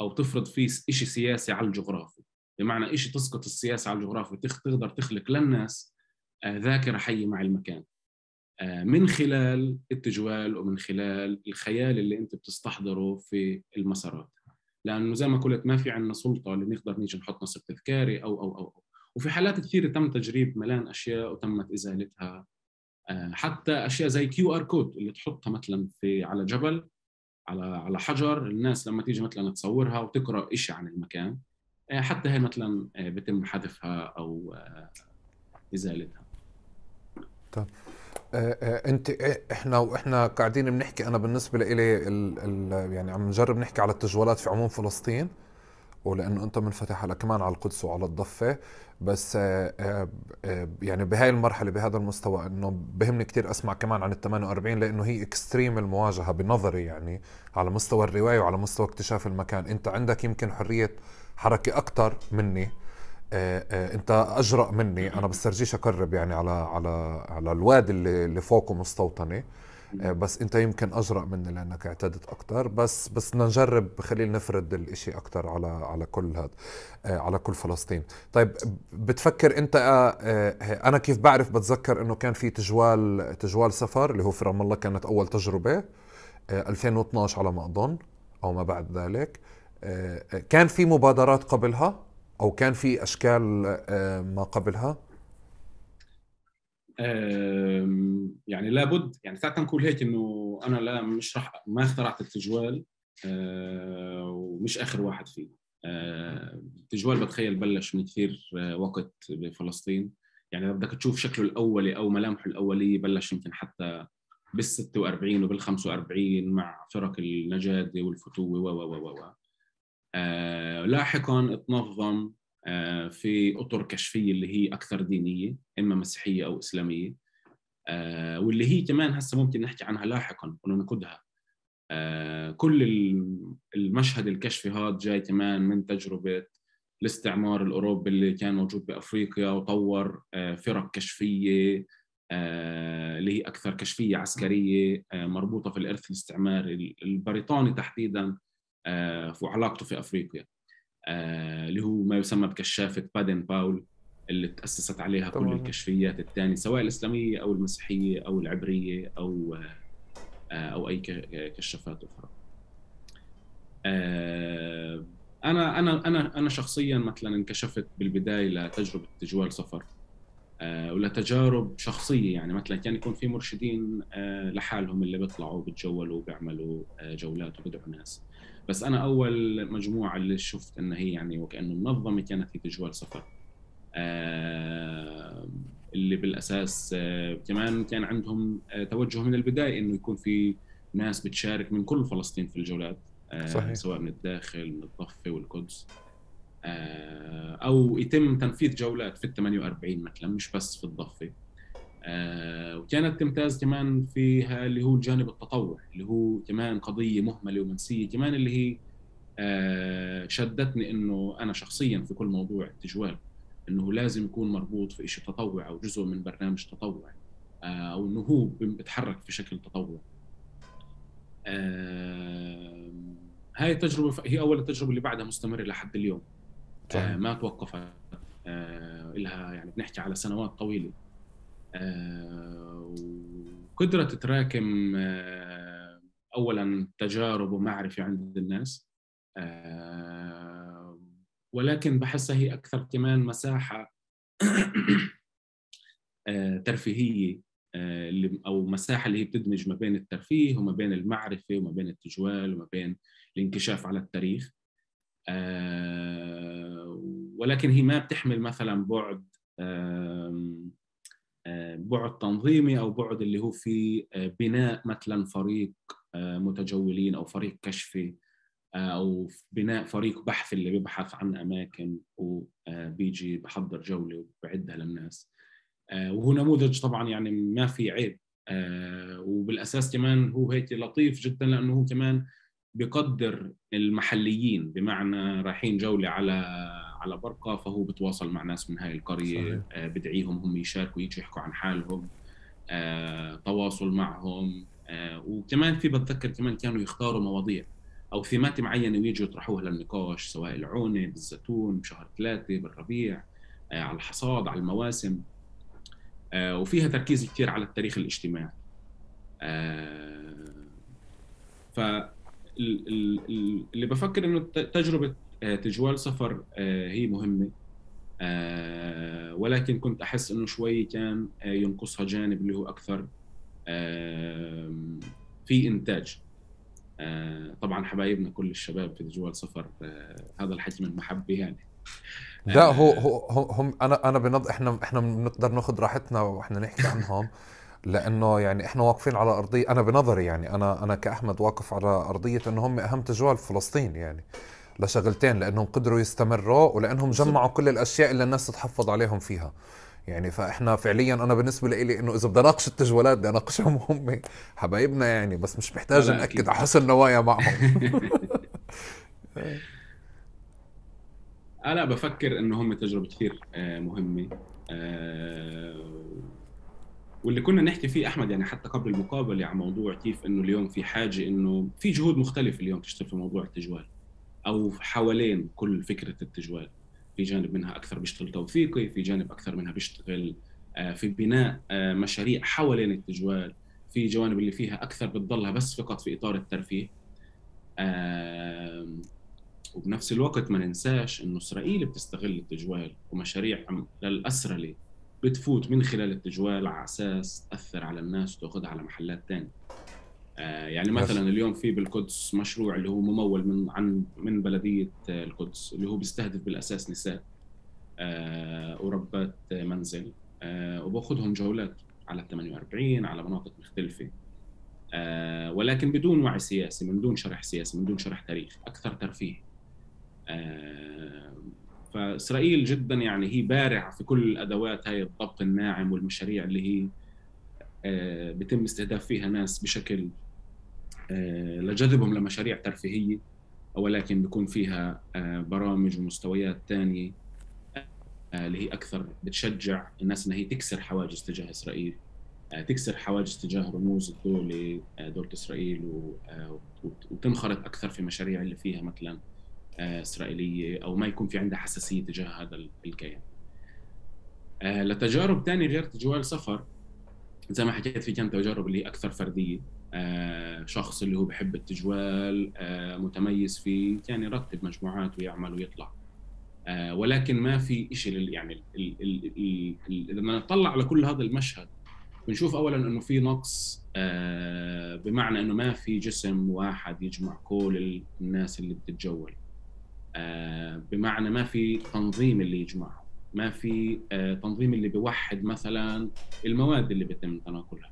Speaker 1: أو تفرض فيه إشي سياسي على الجغرافي، بمعنى إشي تسقط السياسة على الجغرافي تقدر تخلق للناس ذاكرة حية مع المكان من خلال التجوال ومن خلال الخيال اللي أنت بتستحضره في المسارات. لأنه زي ما قلت ما في عنا سلطة اللي نقدر نيجي نحط نصب تذكاري أو أو أو وفي حالات كثيرة تم تجريب ملان أشياء وتمت إزالتها، حتى أشياء زي كيو آر كود اللي تحطها مثلا في على جبل على على حجر، الناس لما تيجي مثلا تصورها وتقرأ إشي عن المكان حتى هي مثلا بتم حذفها أو إزالتها.
Speaker 2: طب انت احنا واحنا قاعدين بنحكي، انا بالنسبه لي ال ال يعني عم نجرب نحكي على التجوالات في عموم فلسطين، ولانه انت منفتح على كمان على القدس وعلى الضفه، بس يعني بهاي المرحله بهذا المستوى انه بهمني كتير اسمع كمان عن ال ثمانية وأربعين، لانه هي اكستريم المواجهه بنظري، يعني على مستوى الروايه وعلى مستوى اكتشاف المكان. انت عندك يمكن حريه حركه اكتر مني، آه آه انت اجرأ مني، انا بسترجيش اقرب يعني على على على الوادي اللي اللي فوقه مستوطنه، بس انت يمكن اجرأ مني لانك اعتدت اكتر. بس بس بدنا نجرب، خلينا نفرد الاشي اكتر على على كل هذا، على كل فلسطين. طيب بتفكر انت، انا كيف بعرف، بتذكر انه كان في تجوال تجوال سفر اللي هو في رام الله، كانت اول تجربة ألفين واثناشر على ما اظن او ما بعد ذلك. كان في مبادرات قبلها او كان في اشكال ما قبلها؟
Speaker 1: يعني لابد، يعني تعال نقول هيك انه انا لا مش راح ما اخترعت التجوال، ومش اخر واحد فيه. التجوال بتخيل بلش من كثير وقت بفلسطين، يعني بدك تشوف شكله الاولي او ملامحه الاوليه بلش يمكن حتى بالستة وأربعين وبالخمسة وأربعين مع فرق النجادة والفتوة و و و و لاحقا تنظم في أطر كشفية اللي هي أكثر دينية، إما مسيحية أو إسلامية، واللي هي كمان هسه ممكن نحكي عنها لاحقا وننقدها. كل المشهد الكشفي هذا جاي كمان من تجربة الاستعمار الأوروبي اللي كان موجود بأفريقيا، وطور فرق كشفية اللي هي أكثر كشفية عسكرية مربوطة في الإرث الاستعماري البريطاني تحديدا وعلاقته في أفريقيا، اللي هو ما يسمى بكشافة بادن باول اللي تأسست عليها طبعا كل الكشفيات الثانية سواء الإسلامية أو المسيحية أو العبرية أو أو أي كشافات أخرى. أنا أنا أنا أنا شخصياً مثلاً انكشفت بالبداية لتجربة تجوال سفر ولا تجارب شخصية، يعني مثلاً كان يكون في مرشدين لحالهم اللي بيطلعوا بتجولوا وبيعملوا جولات وبدعوا ناس، بس أنا أول مجموعة اللي شفت إن هي يعني وكأنه منظمة كانت هي تجوال سفر، اللي بالأساس كمان كان عندهم توجه من البداية إنه يكون في ناس بتشارك من كل فلسطين في الجولات، صحيح. سواء من الداخل من الضفة والقدس، أو يتم تنفيذ جولات في الثمانية وأربعين مثلا مش بس في الضفة. وكانت تمتاز كمان فيها اللي هو الجانب التطوع اللي هو كمان قضية مهملة ومنسية كمان، اللي هي شدتني إنه أنا شخصيا في كل موضوع التجوال إنه لازم يكون مربوط في إشي تطوع أو جزء من برنامج تطوع، أو إنه هو بيتحرك في شكل تطوع. آه هاي التجربة هي أول التجربة اللي بعدها مستمرة لحد اليوم. آه ما توقفت، آه إلها يعني بنحكي على سنوات طويلة، آه وقدرت تراكم آه أولاً تجارب ومعرفة عند الناس، آه ولكن بحسها هي أكثر كمان مساحة آه ترفيهية، اللي أو مساحة اللي هي بتدمج ما بين الترفيه وما بين المعرفة وما بين التجوال وما بين الانكشاف على التاريخ، آه ولكن هي ما بتحمل مثلا بعد آه بعد تنظيمي أو بعد اللي هو في بناء مثلا فريق آه متجولين أو فريق كشفي، آه أو بناء فريق بحث اللي بيبحث عن أماكن وبيجي بحضر جولة وبعدها للناس. آه وهو نموذج طبعا يعني ما في عيب، آه وبالأساس كمان هو هيك لطيف جدا لأنه هو كمان بيقدر المحليين، بمعنى رايحين جولة على على برقة فهو بتواصل مع ناس من هاي القرية، آه بدعيهم هم يشاركوا يجوا يحكوا عن حالهم، آه تواصل معهم، آه وكمان في بتذكر كمان كانوا يختاروا مواضيع أو ثيمات معينة ويجوا يطرحوها للنقاش سواء العونة بالزيتون بشهر ثلاثة بالربيع، آه على الحصاد على المواسم، آه وفيها تركيز كتير على التاريخ الاجتماعي. آه فاللي بفكر إنه تجربة تجوال سفر آه هي مهمة، آه ولكن كنت أحس إنه شوي كان آه ينقصها جانب اللي هو أكثر آه في إنتاج. آه طبعا حبايبنا كل الشباب في تجوال سفر، آه هذا الحكي من محبة يعني.
Speaker 2: لا هو هو هم انا انا بنض احنا احنا بنقدر ناخذ راحتنا واحنا نحكي عنهم لانه يعني احنا واقفين على ارضيه، انا بنظري يعني انا انا كاحمد واقف على ارضيه انه هم اهم تجوال في فلسطين يعني لشغلتين، لانهم قدروا يستمروا ولانهم جمعوا كل الاشياء اللي الناس تتحفظ عليهم فيها يعني. فاحنا فعليا انا بالنسبه لي انه اذا بدي اناقش التجوالات بدي اناقشهم هم حبايبنا يعني، بس مش محتاج ناكد على حسن نوايا معهم.
Speaker 1: أنا بفكر إنه هم تجربة كثير مهمة، واللي كنا نحكي فيه أحمد يعني حتى قبل المقابلة عن موضوع كيف إنه اليوم في حاجة إنه في جهود مختلفة اليوم تشتغل في موضوع التجوال أو حوالين كل فكرة التجوال. في جانب منها أكثر بيشتغل توثيقي، في جانب أكثر منها بيشتغل في بناء مشاريع حوالين التجوال، في جوانب اللي فيها أكثر بتضلها بس فقط في إطار الترفيه. وبنفس الوقت ما ننساش إنه إسرائيل بتستغل التجوال ومشاريع للأسرة بتفوت من خلال التجوال على أساس تأثر على الناس وتأخذها على محلات تانية. آه يعني مثلا اليوم في بالقدس مشروع اللي هو ممول من عن من بلدية القدس اللي هو بيستهدف بالأساس نساء آه وربات منزل آه وبأخذهم جولات على ثمانية وأربعين على مناطق مختلفة آه ولكن بدون وعي سياسي، من دون شرح سياسي، من دون شرح تاريخ، أكثر ترفيه. آه فإسرائيل جدا يعني هي بارعة في كل الأدوات هاي الضبط الناعم والمشاريع اللي هي آه بتم استهداف فيها ناس بشكل آه لجذبهم لمشاريع ترفيهية، ولكن بيكون فيها آه برامج ومستويات تانية آه اللي هي أكثر بتشجع الناس إنها هي تكسر حواجز تجاه إسرائيل، آه تكسر حواجز تجاه رموز الدولة آه دولة إسرائيل آه وتنخرط أكثر في مشاريع اللي فيها مثلا إسرائيلية أو ما يكون في عندها حساسية تجاه هذا الكيان. آه لتجارب تانية غير تجوال سفر زي ما حكيت في كانت تجارب اللي هي أكثر فردية، آه شخص اللي هو بحب التجوال آه متميز فيه يعني يرتب مجموعات ويعمل ويطلع، آه ولكن ما في إشي يعني لما نطلع على كل هذا المشهد بنشوف أولا أنه في نقص آه بمعنى أنه ما في جسم واحد يجمع كل الناس اللي بتتجول، آه بمعنى ما في تنظيم اللي يجمعهم، ما في آه تنظيم اللي بيوحد مثلا المواد اللي بيتم تناقلها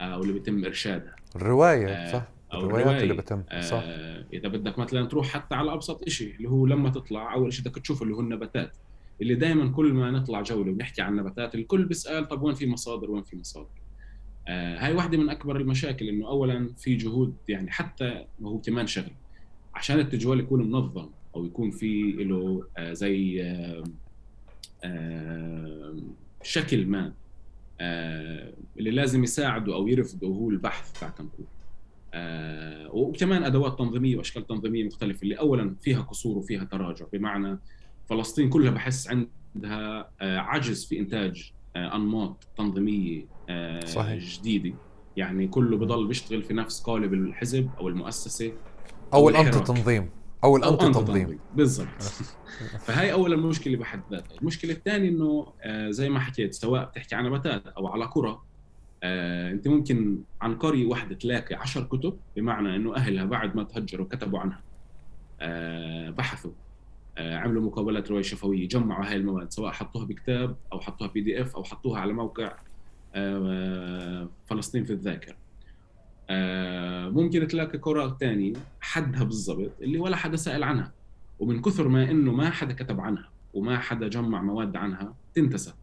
Speaker 1: آه أو اللي بيتم إرشادها،
Speaker 2: الرواية
Speaker 1: آه
Speaker 2: صح،
Speaker 1: أو
Speaker 2: الروايات اللي بتم صح.
Speaker 1: آه إذا بدك مثلا تروح حتى على أبسط إشي اللي هو لما تطلع أول إشي بدك تشوف اللي هو النباتات، اللي دائما كل ما نطلع جولة ونحكي عن نباتات الكل بيسأل طب وين في مصادر وين في مصادر. آه هاي واحدة من أكبر المشاكل، إنه أولا في جهود يعني حتى هو كمان شغل عشان التجوال يكون منظم أو يكون في له آه زي آه آه شكل ما آه اللي لازم يساعده أو يرفضه هو البحث تاع كنكور، آه وكمان أدوات تنظيمية وأشكال تنظيمية مختلفة اللي أولا فيها قصور وفيها تراجع، بمعنى فلسطين كلها بحس عندها آه عجز في إنتاج آه أنماط تنظيمية آه صحيح. جديدة، يعني كله بضل بيشتغل في نفس قالب الحزب أو المؤسسة
Speaker 2: أو, أو الأنت تنظيم أو الأنت تنظيم, تنظيم.
Speaker 1: بالضبط. فهاي أولا مشكلة بحد ذاتها. المشكلة الثانية إنه آه زي ما حكيت سواء بتحكي عن نباتات أو على قرى، آه أنت ممكن عن قرية واحدة تلاقي عشر كتب، بمعنى إنه أهلها بعد ما تهجروا كتبوا عنها آه بحثوا آه عملوا مقابلات رواية شفوية جمعوا هاي المواد سواء حطوها بكتاب أو حطوها بي دي إف أو حطوها على موقع آه فلسطين في الذاكرة. آه ممكن تلاقي قرى تاني حدها بالضبط اللي ولا حدا سأل عنها، ومن كثر ما إنه ما حدا كتب عنها وما حدا جمع مواد عنها تنتسى.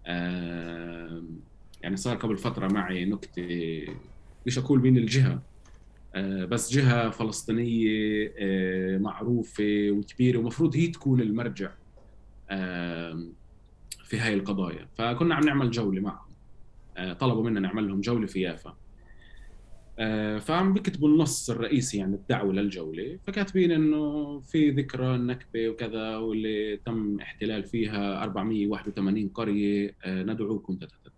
Speaker 1: آه يعني صار قبل فترة معي نكتة مش أقول مين الجهة آه بس جهة فلسطينية آه معروفة وكبيرة ومفروض هي تكون المرجع آه في هاي القضايا، فكنا عم نعمل جولة معهم آه طلبوا منا نعمل لهم جولة في يافا، آه فعم بكتبوا النص الرئيسي يعني الدعوة للجولة، فكاتبين إنه في ذكرى النكبة وكذا واللي تم احتلال فيها أربعمية وواحد وثمانين قرية آه ندعوكم تتتت.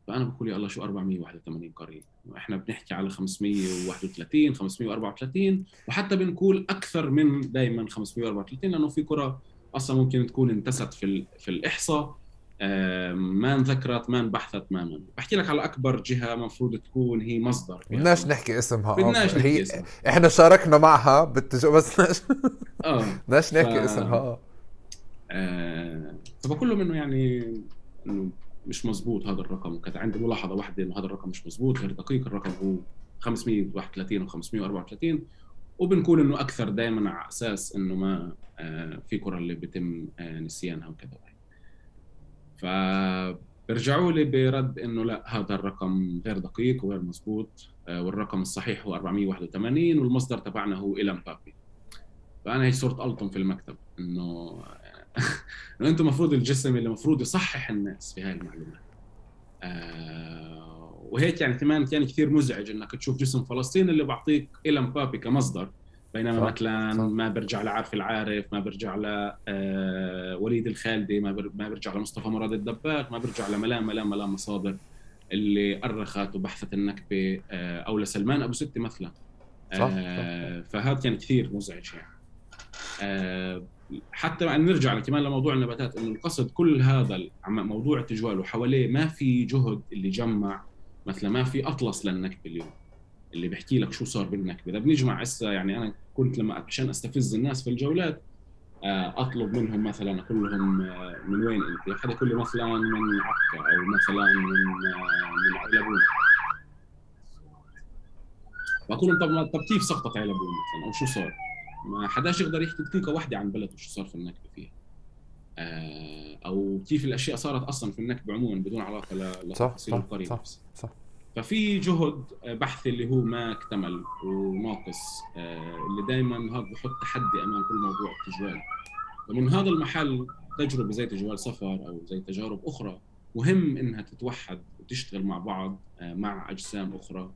Speaker 1: فأنا بقول يا الله شو أربعمية وواحد وثمانين قرية؟ إحنا بنحكي على خمسمية وواحد وثلاثين خمسمية وأربعة وثلاثين وحتى بنقول أكثر من دائما خمسمية وأربعة وثلاثين، لأنه في قرى أصلا ممكن تكون انتست في في الإحصاء آه ما انذكرت ما انبحثت ما من. بحكي لك على أكبر جهة مفروض تكون هي مصدر،
Speaker 2: بدناش نحكي اسمها
Speaker 1: بدناش نحكي
Speaker 2: هي
Speaker 1: اسمها.
Speaker 2: إحنا شاركنا معها بالتجو بس ناش
Speaker 1: آه
Speaker 2: بدناش نحكي ف... اسمها
Speaker 1: آه فبقول لهم إنه يعني إنه مش مزبوط هذا الرقم، وكانت عندي ملاحظة واحدة إنه هذا الرقم مش مزبوط غير دقيق، الرقم هو خمسمية وواحد وثلاثين وخمسمية وأربعة وثلاثين، وبنقول إنه أكثر دائما على أساس إنه ما آه في قرى اللي بيتم آه نسيانها وكذا. فبرجعوا لي برد إنه لا هذا الرقم غير دقيق وغير مزبوط آه والرقم الصحيح هو أربعمية وواحد وثمانين والمصدر تبعنا هو إلم بابي. فأنا هي صرت ألطم في المكتب إنه إنه أنتم مفروض الجسم اللي مفروض يصحح الناس في هاي المعلومات، آه وهيك يعني كمان كان كثير مزعج انك تشوف جسم فلسطين اللي بعطيك إلى مبابي كمصدر، بينما
Speaker 2: صح
Speaker 1: مثلا
Speaker 2: صح
Speaker 1: ما برجع لعارف العارف، ما برجع ل آه وليد الخالدي، ما بر... ما برجع لمصطفى مراد الدباغ، ما برجع لملام ملام ملام مصادر اللي أرخت وبحثت النكبة، آه او لسلمان ابو ستي مثلا.
Speaker 2: صح صح
Speaker 1: آه فهذا كان كثير مزعج يعني. آه حتى يعني نرجع كمان لموضوع النباتات، انه القصد كل هذا ال- عم- موضوع التجوال وحواليه ما في جهد اللي جمع. مثلا ما في اطلس للنكبه اليوم اللي بيحكي لك شو صار بالنكبه. اذا بنجمع هسه يعني انا كنت لما عشان استفز الناس في الجولات، آه، اطلب منهم مثلا اقول لهم آه، من وين انت؟ حدا يقول لي مثلا من عكا، او مثلا من آه، من علبون. بقول لهم طب ما طب كيف سقطت علبون مثلا، او شو صار؟ ما حداش يقدر يحكي دقيقه واحده عن بلده شو صار في النكبه فيها. آه، او كيف الاشياء صارت اصلا في النكبه عموما بدون علاقه ل-
Speaker 2: صح
Speaker 1: لتفاصيل
Speaker 2: صح
Speaker 1: القريه
Speaker 2: صح
Speaker 1: نفسها.
Speaker 2: صح
Speaker 1: ففي جهد بحث اللي هو ما اكتمل وناقص، آه، اللي دائما هذا بحط تحدي امام كل موضوع التجوال. ومن هذا المحل تجربه زي تجوال سفر او زي تجارب اخرى مهم انها تتوحد وتشتغل مع بعض، آه، مع اجسام اخرى،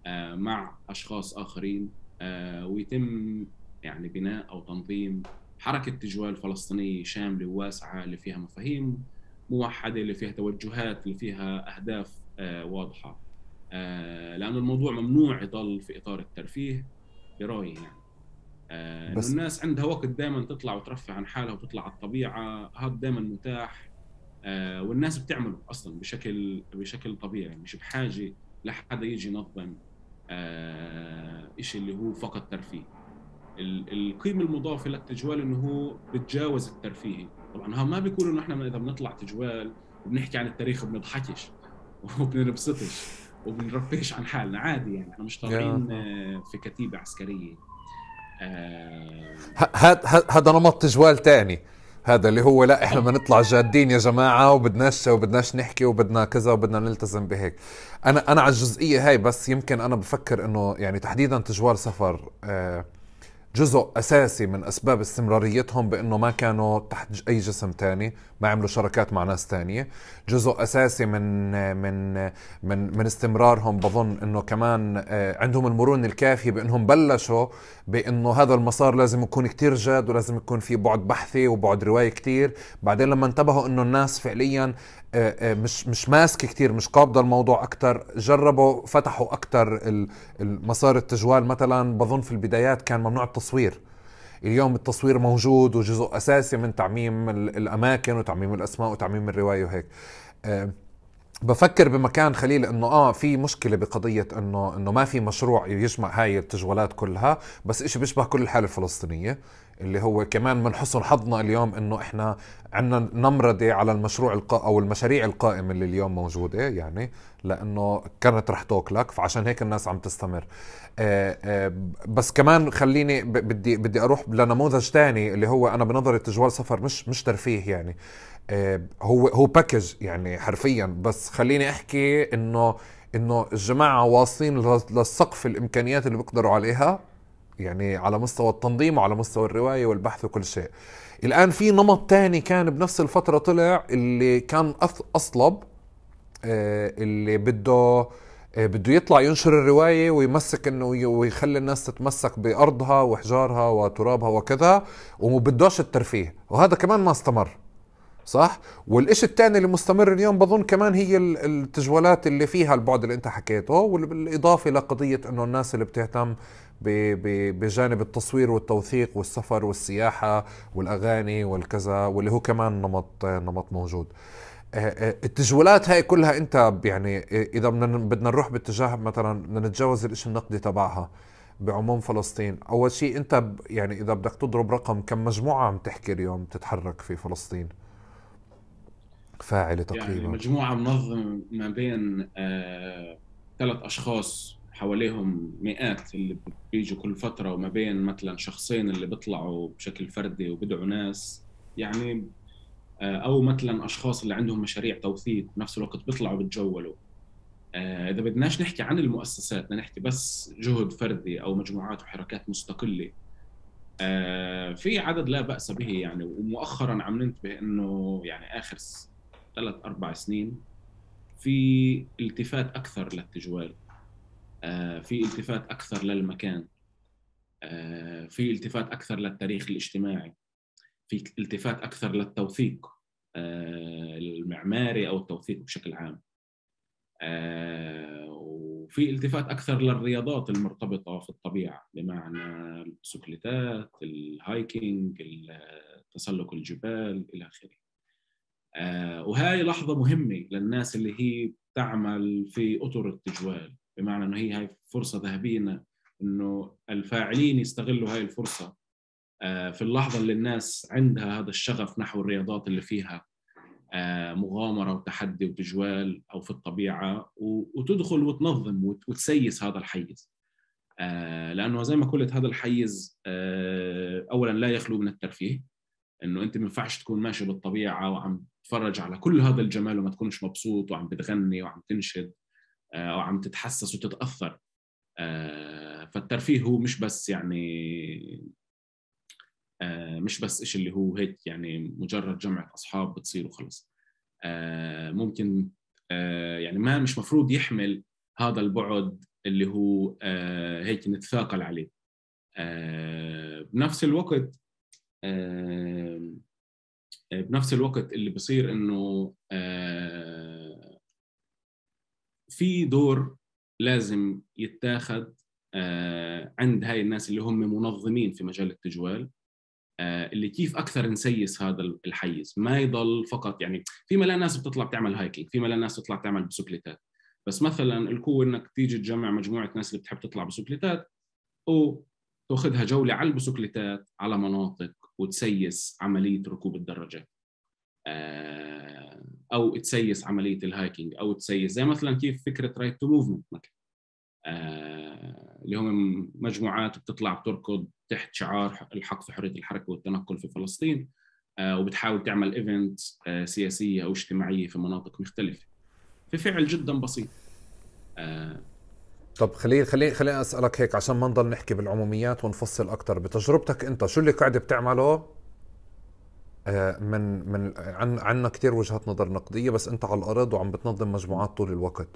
Speaker 1: آه، مع اشخاص اخرين، آه، ويتم يعني بناء او تنظيم حركه تجوال فلسطينيه شامله وواسعه اللي فيها مفاهيم موحده، اللي فيها توجهات، اللي فيها اهداف آه، واضحه. آه، لانه الموضوع ممنوع يضل في اطار الترفيه برايي يعني. آه، انه
Speaker 2: بس
Speaker 1: الناس عندها وقت دائما تطلع وترفه عن حالها وتطلع على الطبيعه، هذا دائما متاح. آه، والناس بتعمله اصلا بشكل بشكل طبيعي، مش بحاجه لحدا يجي ينظم آه، إشي اللي هو فقط ترفيه. ال- القيمة المضافة للتجوال إنه هو بتجاوز الترفيهي. طبعا هم ما بيقولوا إنه إحنا إذا بنطلع تجوال وبنحكي عن التاريخ وبنضحكش وبنبسطش وبنرفهش عن حالنا عادي، يعني إحنا مش طالعين
Speaker 2: يا
Speaker 1: آه، في كتيبة عسكرية. آه،
Speaker 2: هذا هذا نمط تجوال تاني. هذا اللي هو لا احنا بدنا نطلع جادين يا جماعة، وبدناش وبدناش نحكي وبدنا كذا وبدنا نلتزم بهيك. انا انا على الجزئية هاي بس يمكن انا بفكر انه يعني تحديدا تجوال سفر آه جزء أساسي من أسباب استمراريتهم بأنه ما كانوا تحت أي جسم تاني، ما عملوا شركات مع ناس تانية. جزء أساسي من من من من استمرارهم بظن أنه كمان عندهم المرونة الكافية بأنهم بلشوا بأنه هذا المسار لازم يكون كتير جاد، ولازم يكون في بعد بحثي وبعد رواية كتير. بعدين لما انتبهوا أنه الناس فعليا مش مش ماسك كتير، مش قابضة الموضوع أكتر، جربوا فتحوا أكتر المسار التجوال. مثلا بظن في البدايات كان ممنوع التصوير، اليوم التصوير موجود وجزء أساسي من تعميم الأماكن وتعميم الأسماء وتعميم الرواية وهيك. أه بفكر بمكان خليل انه اه في مشكله بقضيه انه انه ما في مشروع يجمع هاي التجوالات كلها، بس اشي بيشبه كل الحاله الفلسطينيه، اللي هو كمان من حسن حظنا اليوم انه احنا عندنا نمرضي على المشروع القا او المشاريع القائمه اللي اليوم موجوده، يعني لانه كانت رح توكلك، فعشان هيك الناس عم تستمر. آه آه بس كمان خليني بدي بدي اروح لنموذج تاني اللي هو انا بنظري تجوال سفر مش مش ترفيه يعني. هو هو باكج يعني حرفيا، بس خليني احكي انه انه الجماعه واصلين للسقف الامكانيات اللي بيقدروا عليها، يعني على مستوى التنظيم وعلى مستوى الروايه والبحث وكل شيء. الان في نمط تاني كان بنفس الفتره طلع اللي كان اصلب، اللي بده بده يطلع ينشر الرواية ويمسك انه ويخلي الناس تتمسك بأرضها وحجارها وترابها وكذا، ومبدوش الترفيه، وهذا كمان ما استمر. صح. والإشي الثاني اللي مستمر اليوم بظن كمان هي التجوالات اللي فيها البعد اللي انت حكيته، والإضافة لقضية انه الناس اللي بتهتم بجانب التصوير والتوثيق والسفر والسياحة والأغاني والكذا، واللي هو كمان نمط نمط موجود. التجوالات هاي كلها انت يعني اذا بدنا نروح باتجاه مثلا بدنا نتجاوز الاشي النقدي تبعها بعموم فلسطين، اول شيء انت يعني اذا بدك تضرب رقم، كم مجموعة عم تحكي اليوم تتحرك في فلسطين فاعلة
Speaker 1: يعني
Speaker 2: تقريبا؟
Speaker 1: مجموعة منظمة ما بين آه، ثلاث أشخاص حواليهم مئات اللي بيجوا كل فترة، وما بين مثلا شخصين اللي بيطلعوا بشكل فردي وبدعوا ناس يعني، آه، أو مثلا أشخاص اللي عندهم مشاريع توثيق بنفس الوقت بيطلعوا بتجولوا. آه، إذا بدناش نحكي عن المؤسسات، بدنا نحكي بس جهد فردي أو مجموعات وحركات مستقلة. آه، في عدد لا بأس به يعني. ومؤخرا عم ننتبه إنه يعني آخر ثلاث أربع سنين في التفات أكثر للتجوال، في التفات أكثر للمكان، في التفات أكثر للتاريخ الاجتماعي، في التفات أكثر للتوثيق المعماري أو التوثيق بشكل عام، وفي التفات أكثر للرياضات المرتبطة في الطبيعة، بمعنى البسكليتات، الهايكينج، تسلق الجبال إلى آخره. وهاي لحظة مهمة للناس اللي هي تعمل في أطر التجوال، بمعنى أنه هي هاي فرصة ذهبية إنه الفاعلين يستغلوا هاي الفرصة في اللحظة اللي الناس عندها هذا الشغف نحو الرياضات اللي فيها مغامرة وتحدي وتجوال أو في الطبيعة، وتدخل وتنظم وتسيس هذا الحيز، لأنه زي ما قلت هذا الحيز أولاً لا يخلو من الترفيه، إنه أنت ما ينفعش تكون ماشي بالطبيعة وعم تتفرج على كل هذا الجمال وما تكونش مبسوط وعم بتغني وعم تنشد أو عم تتحسس وتتأثر. فالترفيه هو مش بس يعني مش بس إيش اللي هو هيك يعني مجرد جمعة أصحاب بتصير وخلص. ممكن يعني ما مش مفروض يحمل هذا البعد اللي هو هيك نتثاقل عليه. بنفس الوقت بنفس الوقت اللي بصير إنه في دور لازم يتاخد عند هاي الناس اللي هم منظمين في مجال التجوال، اللي كيف أكثر نسيس هذا الحيز، ما يضل فقط يعني في ملا ناس بتطلع تعمل هايكينج، في ملا ناس تطلع تعمل بسكليتات، بس مثلا القوة إنك تيجي تجمع مجموعة ناس اللي بتحب تطلع بسكليتات وتأخذها جولة على البسكليتات على مناطق وتسيس عملية ركوب الدراجات، أو تسيس عملية الهايكينج، أو تسيس زي مثلا كيف فكرة رايت تو موفمنت مثلا، اللي هم مجموعات بتطلع بتركض تحت شعار الحق في حرية الحركة والتنقل في فلسطين، وبتحاول تعمل إيفنت سياسية أو اجتماعية في مناطق مختلفة في فعل جدا بسيط.
Speaker 2: طب خليني خليني خليني أسألك هيك عشان ما نضل نحكي بالعموميات ونفصل أكتر. بتجربتك أنت شو اللي قاعد بتعمله؟ من من عن عنا كتير وجهات نظر نقدية، بس أنت على الأرض وعم بتنظم مجموعات طول الوقت،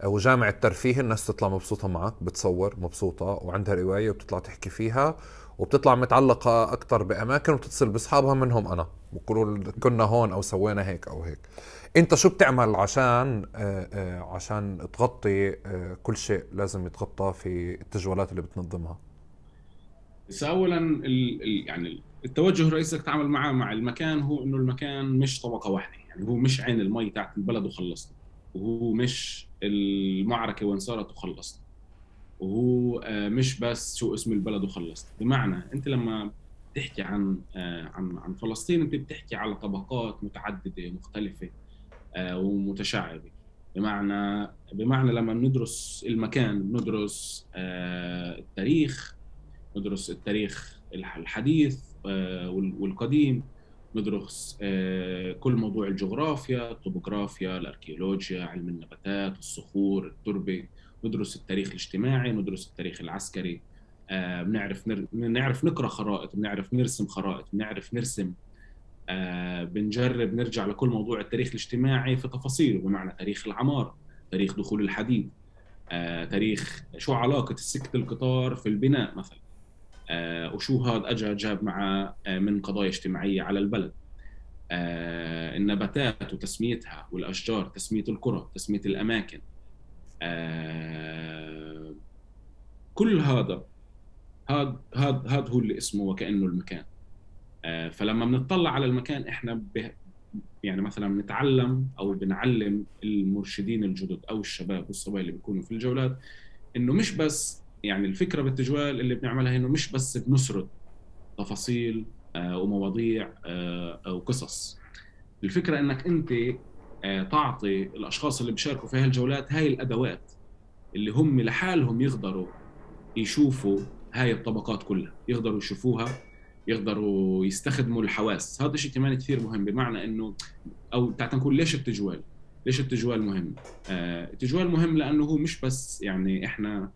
Speaker 2: وجامع الترفيه الناس تطلع مبسوطة معك، بتصور مبسوطة وعندها رواية وبتطلع تحكي فيها وبتطلع متعلقة أكتر بأماكن وبتتصل بأصحابها منهم أنا بقولوا كنا هون أو سوينا هيك أو هيك. أنت شو بتعمل عشان آآ آآ عشان تغطي كل شيء لازم يتغطى في التجوالات اللي بتنظمها؟
Speaker 1: بس أولاً ال يعني التوجه الرئيسي اللي تتعامل معه مع المكان هو إنه المكان مش طبقة واحدة، يعني هو مش عين المي تاعت البلد وخلصنا، وهو مش المعركة وين صارت وخلصنا، وهو مش بس شو اسم البلد وخلصنا. بمعنى أنت لما بتحكي عن عن عن فلسطين أنت بتحكي على طبقات متعددة مختلفة ومتشعبة. بمعنى بمعنى لما ندرس المكان ندرس التاريخ، ندرس التاريخ الحديث والقديم، ندرس كل موضوع الجغرافيا، الطبوغرافيا، الأركيولوجيا، علم النباتات، الصخور، التربة، ندرس التاريخ الاجتماعي، ندرس التاريخ العسكري، بنعرف نعرف نقرأ خرائط، بنعرف نرسم خرائط، بنعرف نرسم، بنجرب نرجع لكل موضوع التاريخ الاجتماعي في تفاصيله، بمعنى تاريخ العمار، تاريخ دخول الحديد، تاريخ شو علاقة السكة القطار في البناء مثلا، آه وشو هذا أجا جاب مع آه من قضايا اجتماعية على البلد، آه النباتات وتسميتها، والأشجار تسمية القرى، تسمية الأماكن، آه كل هذا هذا هذا هذا هو اللي اسمه وكأنه المكان. آه فلما بنطلع على المكان إحنا به يعني مثلا نتعلم أو بنعلم المرشدين الجدد أو الشباب والصبايا اللي بيكونوا في الجولات إنه مش بس يعني الفكرة بالتجوال اللي بنعملها إنه مش بس بنسرد تفاصيل آه ومواضيع آه وقصص. الفكرة إنك أنت آه تعطي الأشخاص اللي بيشاركوا في هاي الجولات هاي الأدوات اللي هم لحالهم يقدروا يشوفوا هاي الطبقات كلها، يقدروا يشوفوها، يقدروا يستخدموا الحواس. هذا شيء كمان كثير مهم. بمعنى إنه أو تعال نقول ليش التجوال ليش التجوال مهم. آه التجوال مهم لأنه هو مش بس يعني إحنا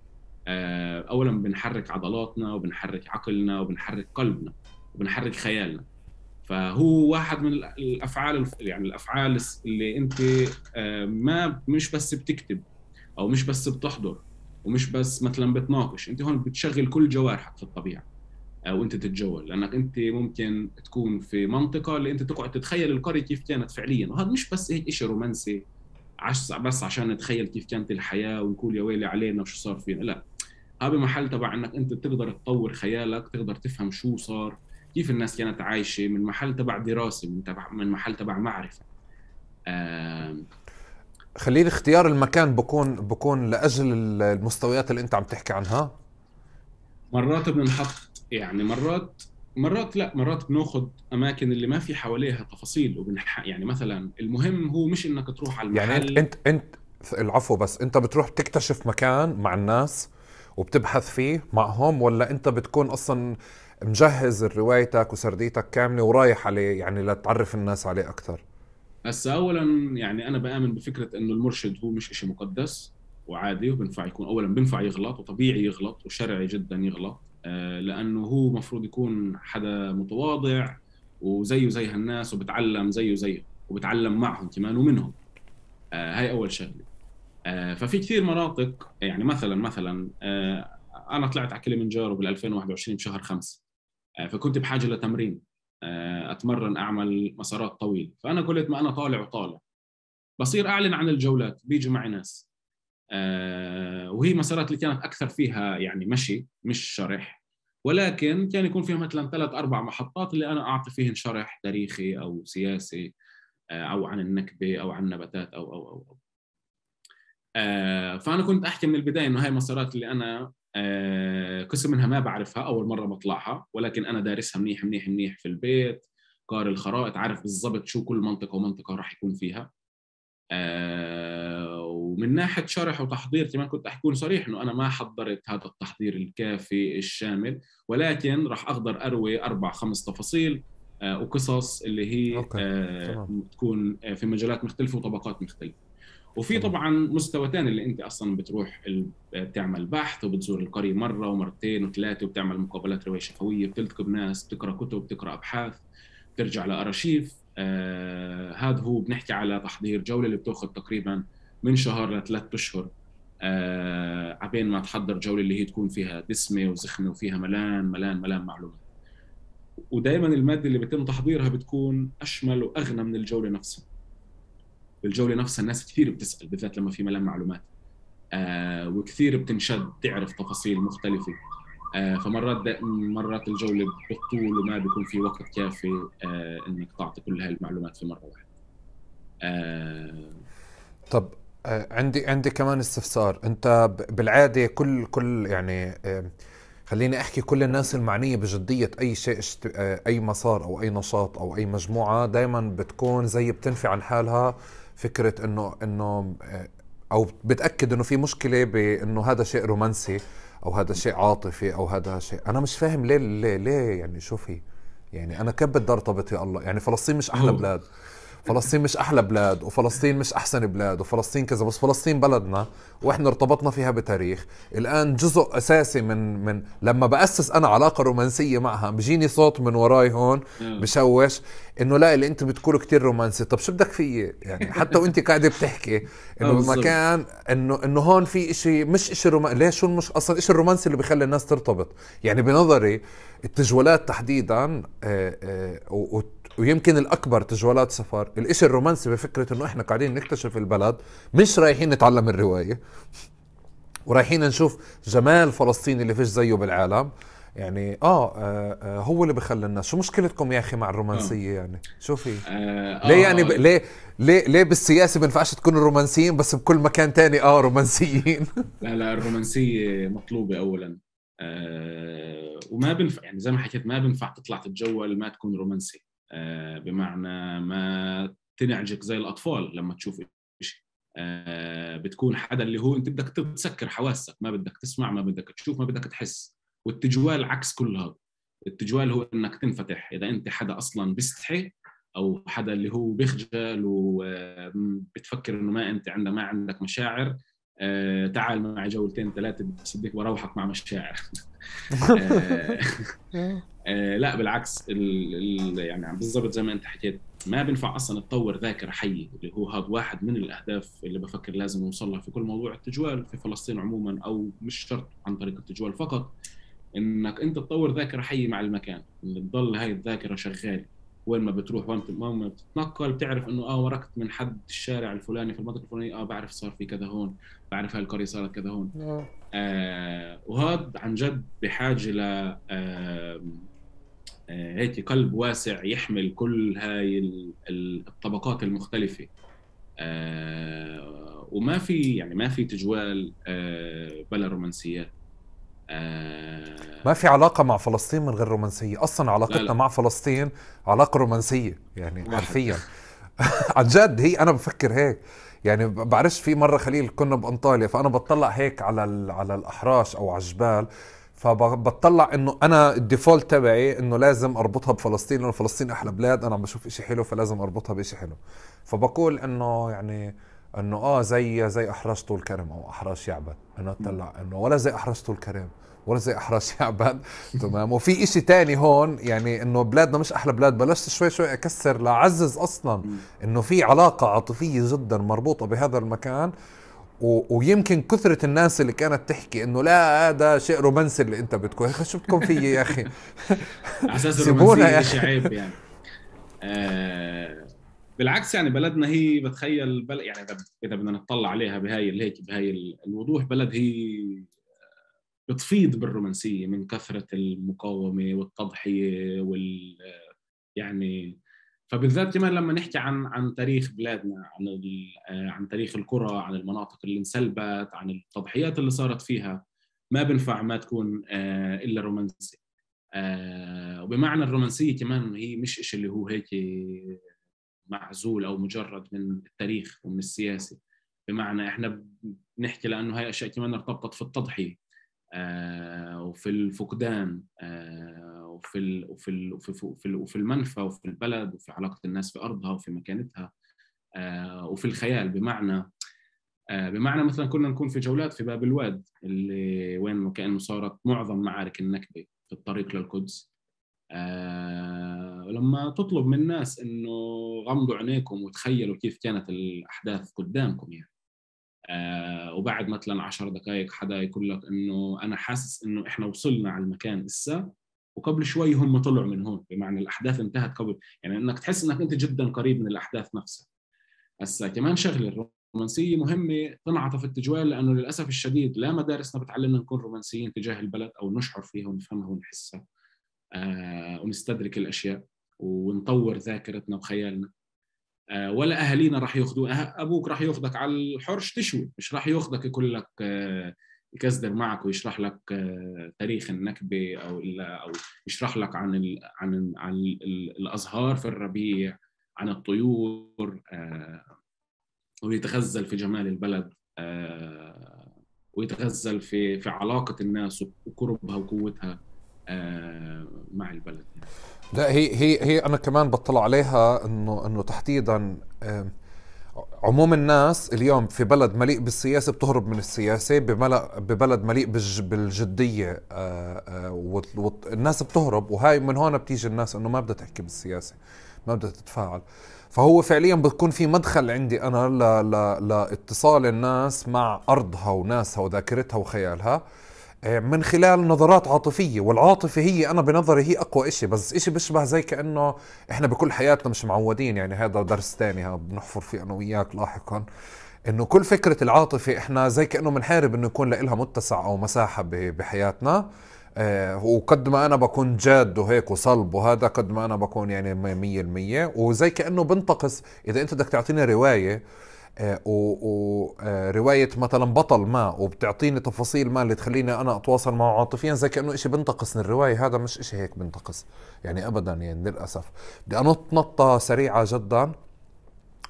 Speaker 1: أولاً بنحرك عضلاتنا وبنحرك عقلنا وبنحرك قلبنا وبنحرك خيالنا، فهو واحد من الافعال، يعني الافعال اللي انت ما مش بس بتكتب او مش بس بتحضر ومش بس مثلا بتناقش، انت هون بتشغل كل جوارحك في الطبيعه وانت تتجول، لانك انت ممكن تكون في منطقه اللي انت تقعد تتخيل القريه كيف كانت فعليا. وهذا مش بس هيك شيء رومانسي بس عشان نتخيل كيف كانت الحياه ونقول يا ويلي علينا وشو صار فينا، لا، هذا محل تبع انك انت تقدر تطور خيالك، تقدر تفهم شو صار، كيف الناس كانت عايشه، من محل تبع دراسه، من تبع من محل تبع معرفه. آم،
Speaker 2: خليل، اختيار المكان بكون بكون لاجل المستويات اللي انت عم تحكي عنها.
Speaker 1: مرات بنحط يعني مرات مرات لا مرات بناخذ اماكن اللي ما في حواليها تفاصيل وبنح يعني مثلا المهم هو مش انك تروح على
Speaker 2: يعني انت
Speaker 1: المحل.
Speaker 2: انت انت العفو، بس انت بتروح تكتشف مكان مع الناس وبتبحث فيه معهم، ولا انت بتكون اصلا مجهز روايتك وسرديتك كاملة ورايح عليه يعني لتعرف الناس عليه اكثر؟
Speaker 1: بس اولا يعني انا بآمن بفكره انه المرشد هو مش إشي مقدس وعادي، وبنفع يكون اولا بنفع يغلط وطبيعي يغلط وشرعي جدا يغلط، آه، لانه هو مفروض يكون حدا متواضع وزيه زي هالناس وبتعلم زيه زيهم وبتعلم معهم كمان ومنهم. آه، هاي اول شغله. آه، ففي كثير مناطق، يعني مثلا مثلا آه، انا طلعت على كليمنجارو بال ألفين وواحد وعشرين بشهر خمسة، آه، فكنت بحاجه لتمرين، آه، اتمرن اعمل مسارات طويله. فانا قلت ما انا طالع وطالع بصير اعلن عن الجولات، بيجي معي ناس، آه، وهي مسارات اللي كانت اكثر فيها يعني مشي مش شرح، ولكن كان يكون فيها مثلا ثلاث اربع محطات اللي انا اعطي فيهن شرح تاريخي او سياسي، آه، او عن النكبه او عن نباتات او او او, أو. آه، فانا كنت احكي من البدايه انه هاي المسارات اللي انا آه، قسم منها ما بعرفها، اول مره بطلعها، ولكن انا دارسها منيح منيح منيح في البيت، قاري الخرائط، عارف بالضبط شو كل منطقه ومنطقه راح يكون فيها. آه، ومن ناحيه شرح وتحضير كمان كنت احكي صريح انه انا ما حضرت هذا التحضير الكافي الشامل، ولكن راح اقدر اروي اربع خمس تفاصيل آه، وقصص اللي هي
Speaker 2: اوكي،
Speaker 1: آه،
Speaker 2: تمام
Speaker 1: تكون في مجالات مختلفه وطبقات مختلفه. وفي
Speaker 2: تمام.
Speaker 1: طبعا مستوى ثاني اللي انت اصلا بتروح ال- بتعمل بحث وبتزور القريه مره ومرتين وثلاثه وبتعمل مقابلات روايه شفويه، بتلتقي بناس، بتقرا كتب، بتقرا ابحاث، بترجع لارشيف. آه هذا هو بنحكي على تحضير جوله اللي بتاخذ تقريبا من شهر لثلاث اشهر، آه عبين ما تحضر جوله اللي هي تكون فيها دسمه وزخمه وفيها ملان ملان ملان معلومات. ودائما الماده اللي بيتم تحضيرها بتكون اشمل واغنى من الجوله نفسها. بالجوله نفسها الناس كثير بتسال، بالذات لما في ملان معلومات، آه وكثير بتنشد تعرف تفاصيل مختلفه. آه فمرات مرات الجوله بتطول وما بيكون في وقت كافي آه انك تعطي كل هاي المعلومات في مره واحده. آه
Speaker 2: طب آه، عندي عندي كمان استفسار. انت ب- بالعاده كل كل يعني آه، خليني احكي كل الناس المعنيه بجديه اي شيء اشت... آه، اي مسار او اي نشاط او اي مجموعه دائما بتكون زي بتنفي عن حالها فكره انه انه آه، او بتاكد انه في مشكله بانه هذا شيء رومانسي او هذا شيء عاطفي او هذا شيء. انا مش فاهم ليه ليه ليه يعني شو في؟ يعني انا كيف بدي ارتبط يا الله؟ يعني فلسطين مش احلى
Speaker 1: هو
Speaker 2: بلاد؟ فلسطين مش احلى بلاد، وفلسطين مش احسن بلاد، وفلسطين كذا، بس فلسطين بلدنا واحنا ارتبطنا فيها بتاريخ. الان جزء اساسي من من لما باسس انا علاقه رومانسيه معها بيجيني صوت من وراي هون
Speaker 1: آه.
Speaker 2: بشوش انه لا، اللي انت بتقوله كتير رومانسي. طب شو بدك فيي يعني؟ حتى وانت قاعده بتحكي
Speaker 1: اه
Speaker 2: انه
Speaker 1: بالضبط.
Speaker 2: بمكان انه انه هون في اشي مش اشي رومانسي. ليش؟ شو مش اصلا اشي الرومانسي اللي بيخلي الناس ترتبط؟ يعني بنظري التجولات تحديدا آه، آه، و- و- ويمكن الاكبر تجولات سفر، الاشي الرومانسي بفكره انه احنا قاعدين نكتشف البلد، مش رايحين نتعلم الروايه ورايحين نشوف جمال فلسطين اللي فيش زيه بالعالم. يعني آه, آه, اه هو اللي بخلي الناس. شو مشكلتكم يا اخي مع
Speaker 1: اه
Speaker 2: الرومانسية؟ يعني شو في؟
Speaker 1: اه
Speaker 2: ليه يعني ب...
Speaker 1: اه, آه.
Speaker 2: ليه ليه ليه بالسياسة بنفعش تكونوا رومانسيين بس بكل مكان تاني اه رومانسيين؟
Speaker 1: لا لا، الرومانسيه مطلوبه اولا، آه وما بنفع يعني زي ما حكيت ما بنفع تطلع تتجول ما تكون رومانسي، آه بمعنى ما تنعجك زي الاطفال لما تشوف شيء. آه بتكون حدا اللي هو انت بدك تسكر حواسك، ما بدك تسمع ما بدك تشوف ما بدك تحس. والتجوال عكس كل هذا. التجوال هو انك تنفتح، اذا انت حدا اصلا بيستحي او حدا اللي هو بيخجل وبتفكر انه ما انت عندك ما عندك مشاعر، آه تعال معي جولتين ثلاثة بس بدك بروحك مع مشاعر. آه آه لا بالعكس، ال ال يعني بالضبط زي ما انت حكيت، ما بينفع اصلا تطور ذاكره حيه، اللي هو هذا واحد من الاهداف اللي بفكر لازم نوصل لها في كل موضوع التجوال في فلسطين عموما، او مش شرط عن طريق التجوال فقط، انك انت تطور ذاكره حيه مع المكان، اللي تضل هاي الذاكره شغاله وين ما بتروح، وين ما بتتنقل بتعرف انه اه وركت من حد الشارع الفلاني في المنطقه الفلانيه، اه بعرف صار في كذا هون، بعرف هاي القريه صارت كذا هون. آه وهذا عن جد بحاجه ل آه آه هيك قلب واسع يحمل كل هاي الطبقات المختلفه. آه وما في يعني ما في تجوال آه بلا رومانسيات. آه
Speaker 2: ما في علاقة مع فلسطين من غير رومانسية أصلا. علاقتنا
Speaker 1: لا لا.
Speaker 2: مع فلسطين علاقة رومانسية يعني
Speaker 1: واحد.
Speaker 2: حرفيا. عن جد هي أنا بفكر هيك يعني. بعرفش في مرة خليل كنا بأنطاليا، فأنا بطلع هيك على على الأحراش أو على الجبال، فبطلع إنه أنا الديفولت تبعي إنه لازم أربطها بفلسطين، لأنه فلسطين أحلى بلاد، أنا عم بشوف إشي حلو فلازم أربطها بإشي حلو. فبقول إنه يعني إنه آه زي زي أحراش طول كرم أو أحراش يعبد، إنه أطلع إنه ولا زي أحراش طول كرم ولا زي أحراش يعبد. تمام. وفي إشي تاني هون يعني إنه بلادنا مش أحلى بلاد، بلشت شوي شوي أكسر لأعزز أصلا إنه في علاقة عاطفية جدا مربوطة بهذا المكان. و... ويمكن كثرة الناس اللي كانت تحكي إنه لا هذا شيء رومانسي اللي أنت بتكون، شو بدكم فيه يا أخي؟
Speaker 1: على أساس
Speaker 2: سيبونا يا
Speaker 1: الرومانسية
Speaker 2: أخي.
Speaker 1: شيء عيب يعني. آه بالعكس يعني بلدنا هي بتخيل بل يعني إذا إذا بدنا نطلع عليها بهاي اللي هيك بهاي الوضوح، بلد هي بتفيض بالرومانسية من كثرة المقاومة والتضحية وال يعني. فبالذات كمان لما نحكي عن عن تاريخ بلادنا، عن عن تاريخ القرى، عن المناطق اللي انسلبت، عن التضحيات اللي صارت فيها، ما بنفع ما تكون إلا رومانسي. وبمعنى الرومانسية كمان هي مش إشي اللي هو هيك معزول أو مجرد من التاريخ ومن السياسة، بمعنى إحنا بنحكي لأنه هاي أشياء كمان ارتبطت في التضحية آه وفي الفقدان آه وفي ال وفي ال وفي, وفي, وفي المنفى وفي البلد وفي علاقة الناس في أرضها وفي مكانتها آه وفي الخيال. بمعنى آه بمعنى مثلا كنا نكون في جولات في باب الواد اللي وين كأنه صارت معظم معارك النكبة في الطريق للقدس. آه لما تطلب من الناس إنه غمضوا عينيكم وتخيلوا كيف كانت الأحداث قدامكم يعني. آه وبعد مثلا عشر دقائق حدا يقول لك انه انا حاسس انه احنا وصلنا على المكان اسا وقبل شوي هم طلعوا من هون، بمعنى الاحداث انتهت قبل، يعني انك تحس انك انت جدا قريب من الاحداث نفسها. هسا كمان شغله الرومانسيه مهمه تنعطف التجوال، لانه للاسف الشديد لا مدارسنا بتعلمنا نكون رومانسيين تجاه البلد او نشعر فيها ونفهمها ونحسها آه ونستدرك الاشياء ونطور ذاكرتنا وخيالنا. ولا اهالينا راح ياخذوا، ابوك راح ياخذك على الحرش تشوي، مش راح ياخذك يقول لك يكزدر معك ويشرح لك تاريخ النكبه او او يشرح لك عن ال عن ال عن ال الازهار في الربيع، عن الطيور ويتغزل في جمال البلد ويتغزل في في علاقه الناس وقربها وقوتها مع البلد.
Speaker 2: لا هي هي هي انا كمان بطلع عليها انه انه تحديدا عموم الناس اليوم في بلد مليء بالسياسه بتهرب من السياسه، ببلد مليء بالجديه والناس بتهرب، وهاي من هون بتيجي الناس انه ما بدها تحكي بالسياسه، ما بدها تتفاعل. فهو فعليا بتكون في مدخل عندي انا لاتصال الناس مع ارضها وناسها وذاكرتها وخيالها من خلال نظرات عاطفية. والعاطفة هي أنا بنظري هي أقوى إشي، بس إشي بيشبه زي كأنه إحنا بكل حياتنا مش معودين، يعني هذا درس تاني بنحفر فيه أنا وياك لاحقا، إنه كل فكرة العاطفة إحنا زي كأنه منحارب إنه يكون لها متسع أو مساحة بحياتنا. آه وقد ما أنا بكون جاد وهيك وصلب وهذا، قد ما أنا بكون يعني مية المية، وزي كأنه بنتقص إذا أنت بدك تعطيني رواية ورواية مثلا بطل ما وبتعطيني تفاصيل ما اللي تخليني أنا أتواصل معه عاطفيا، زي كأنه إشي بنتقص من الرواية. هذا مش إشي هيك بنتقص يعني أبدا، يعني للأسف. بدي أنط نطة سريعة جدا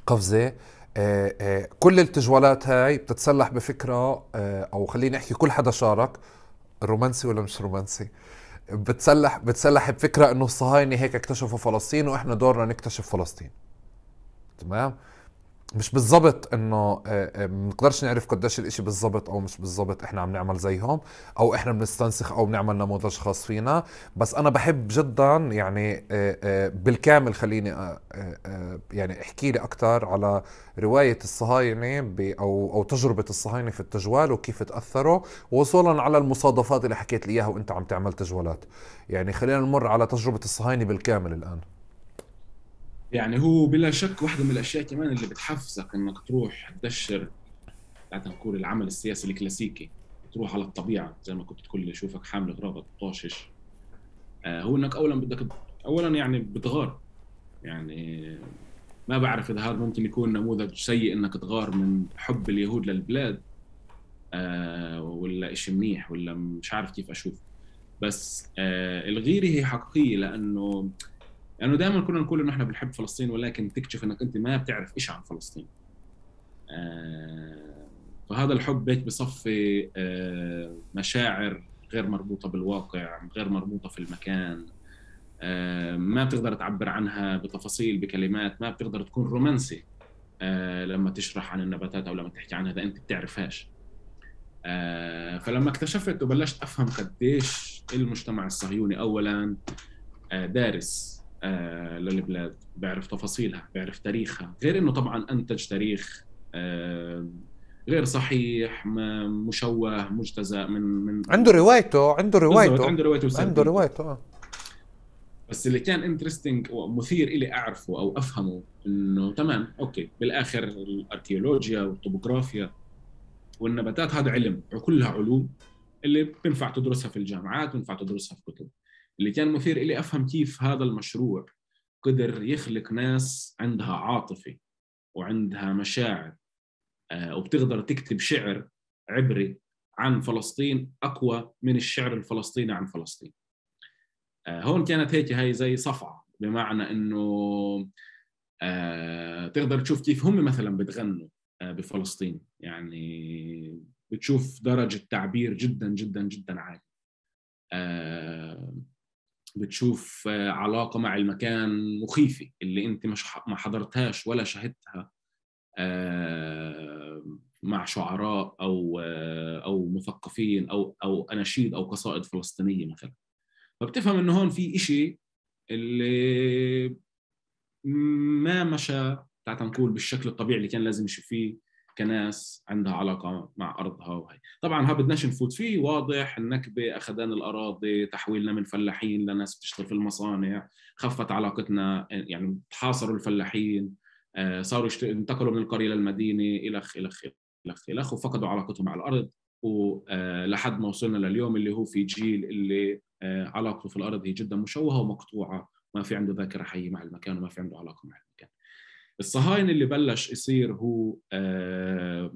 Speaker 2: قفزة. آآ آآ كل التجوالات هاي بتتسلح بفكرة، أو خليني أحكي كل حدا شارك، رومانسي ولا مش رومانسي، بتسلح بتسلح بفكرة إنه الصهاينة هيك اكتشفوا فلسطين وإحنا دورنا نكتشف فلسطين. تمام. مش بالضبط انه منقدرش نعرف قديش الاشي بالضبط او مش بالضبط احنا عم نعمل زيهم او احنا بنستنسخ او بنعمل نموذج خاص فينا. بس انا بحب جدا يعني بالكامل خليني يعني احكي لي اكتر على رواية الصهاينة او او تجربة الصهاينة في التجوال وكيف تأثروا، وصولا على المصادفات اللي حكيت لي اياها وانت عم تعمل تجوالات. يعني خلينا نمر على تجربة الصهاينة بالكامل الان.
Speaker 1: يعني هو بلا شك واحدة من الأشياء كمان اللي بتحفزك إنك تروح تدشر تعال نقول العمل السياسي الكلاسيكي، تروح على الطبيعة زي ما كنت تقول لي شوفك حامل غراض طاشش. آه هو إنك أولا بدك أولا يعني بتغار. يعني ما بعرف إذا هذا ممكن يكون نموذج سيء إنك تغار من حب اليهود للبلاد، آه ولا إشي منيح، ولا مش عارف كيف أشوف. بس آه الغيرة هي حقيقية، لأنه يعني دائما كنا نقول انه احنا بنحب فلسطين، ولكن تكتشف انك انت ما بتعرف ايش عن فلسطين. آه فهذا الحب هيك بصفي آه مشاعر غير مربوطة بالواقع، غير مربوطة في المكان. آه ما بتقدر تعبر عنها بتفاصيل بكلمات، ما بتقدر تكون رومانسي آه لما تشرح عن النباتات او لما تحكي عنها اذا انت بتعرفهاش. آه فلما اكتشفت وبلشت افهم قديش المجتمع الصهيوني اولا آه دارس آه للبلاد، بيعرف تفاصيلها، بيعرف تاريخها، غير انه طبعا انتج تاريخ آه غير صحيح، مشوه، مجتزأ من من
Speaker 2: عنده روايته عنده
Speaker 1: بالضبط،
Speaker 2: روايته
Speaker 1: عنده روايته
Speaker 2: عنده
Speaker 1: وسرديته.
Speaker 2: روايته.
Speaker 1: بس اللي كان انترستينج ومثير إلي أعرفه أو أفهمه إنه تمام أوكي، بالآخر الأركيولوجيا والطبوغرافيا والنباتات هذا علم، وكلها علوم اللي بينفع تدرسها في الجامعات، بينفع تدرسها في كتب. اللي كان مثير إلي أفهم كيف هذا المشروع قدر يخلق ناس عندها عاطفة وعندها مشاعر آه وبتقدر تكتب شعر عبري عن فلسطين أقوى من الشعر الفلسطيني عن فلسطين. آه هون كانت هيك هاي زي صفعة، بمعنى إنه آه تقدر تشوف كيف هم مثلا بتغنوا آه بفلسطين. يعني بتشوف درجة تعبير جدا جدا جدا عالية. آه بتشوف آه علاقة مع المكان مخيفة اللي انت مش ما حضرتهاش ولا شهدتها آه مع شعراء او آه او مثقفين او او اناشيد او قصائد فلسطينية مثلا. فبتفهم انه هون في إشي اللي ما مشى تعال نقول بالشكل الطبيعي اللي كان لازم يمشي فيه كناس عندها علاقة مع أرضها. وهي طبعا ها بدناش نفوت فيه، واضح النكبة أخذان الأراضي، تحويلنا من فلاحين لناس بتشتغل في المصانع، خفت علاقتنا، يعني تحاصروا الفلاحين، صاروا انتقلوا من القرية للمدينة إلخ إلخ إلخ إلخ وفقدوا علاقتهم مع الأرض، ولحد ما وصلنا لليوم اللي هو في جيل اللي علاقته في الأرض هي جدا مشوهة ومقطوعة، ما في عنده ذاكرة حية مع المكان وما في عنده علاقة مع المكان. الصهاينة اللي بلش يصير هو آه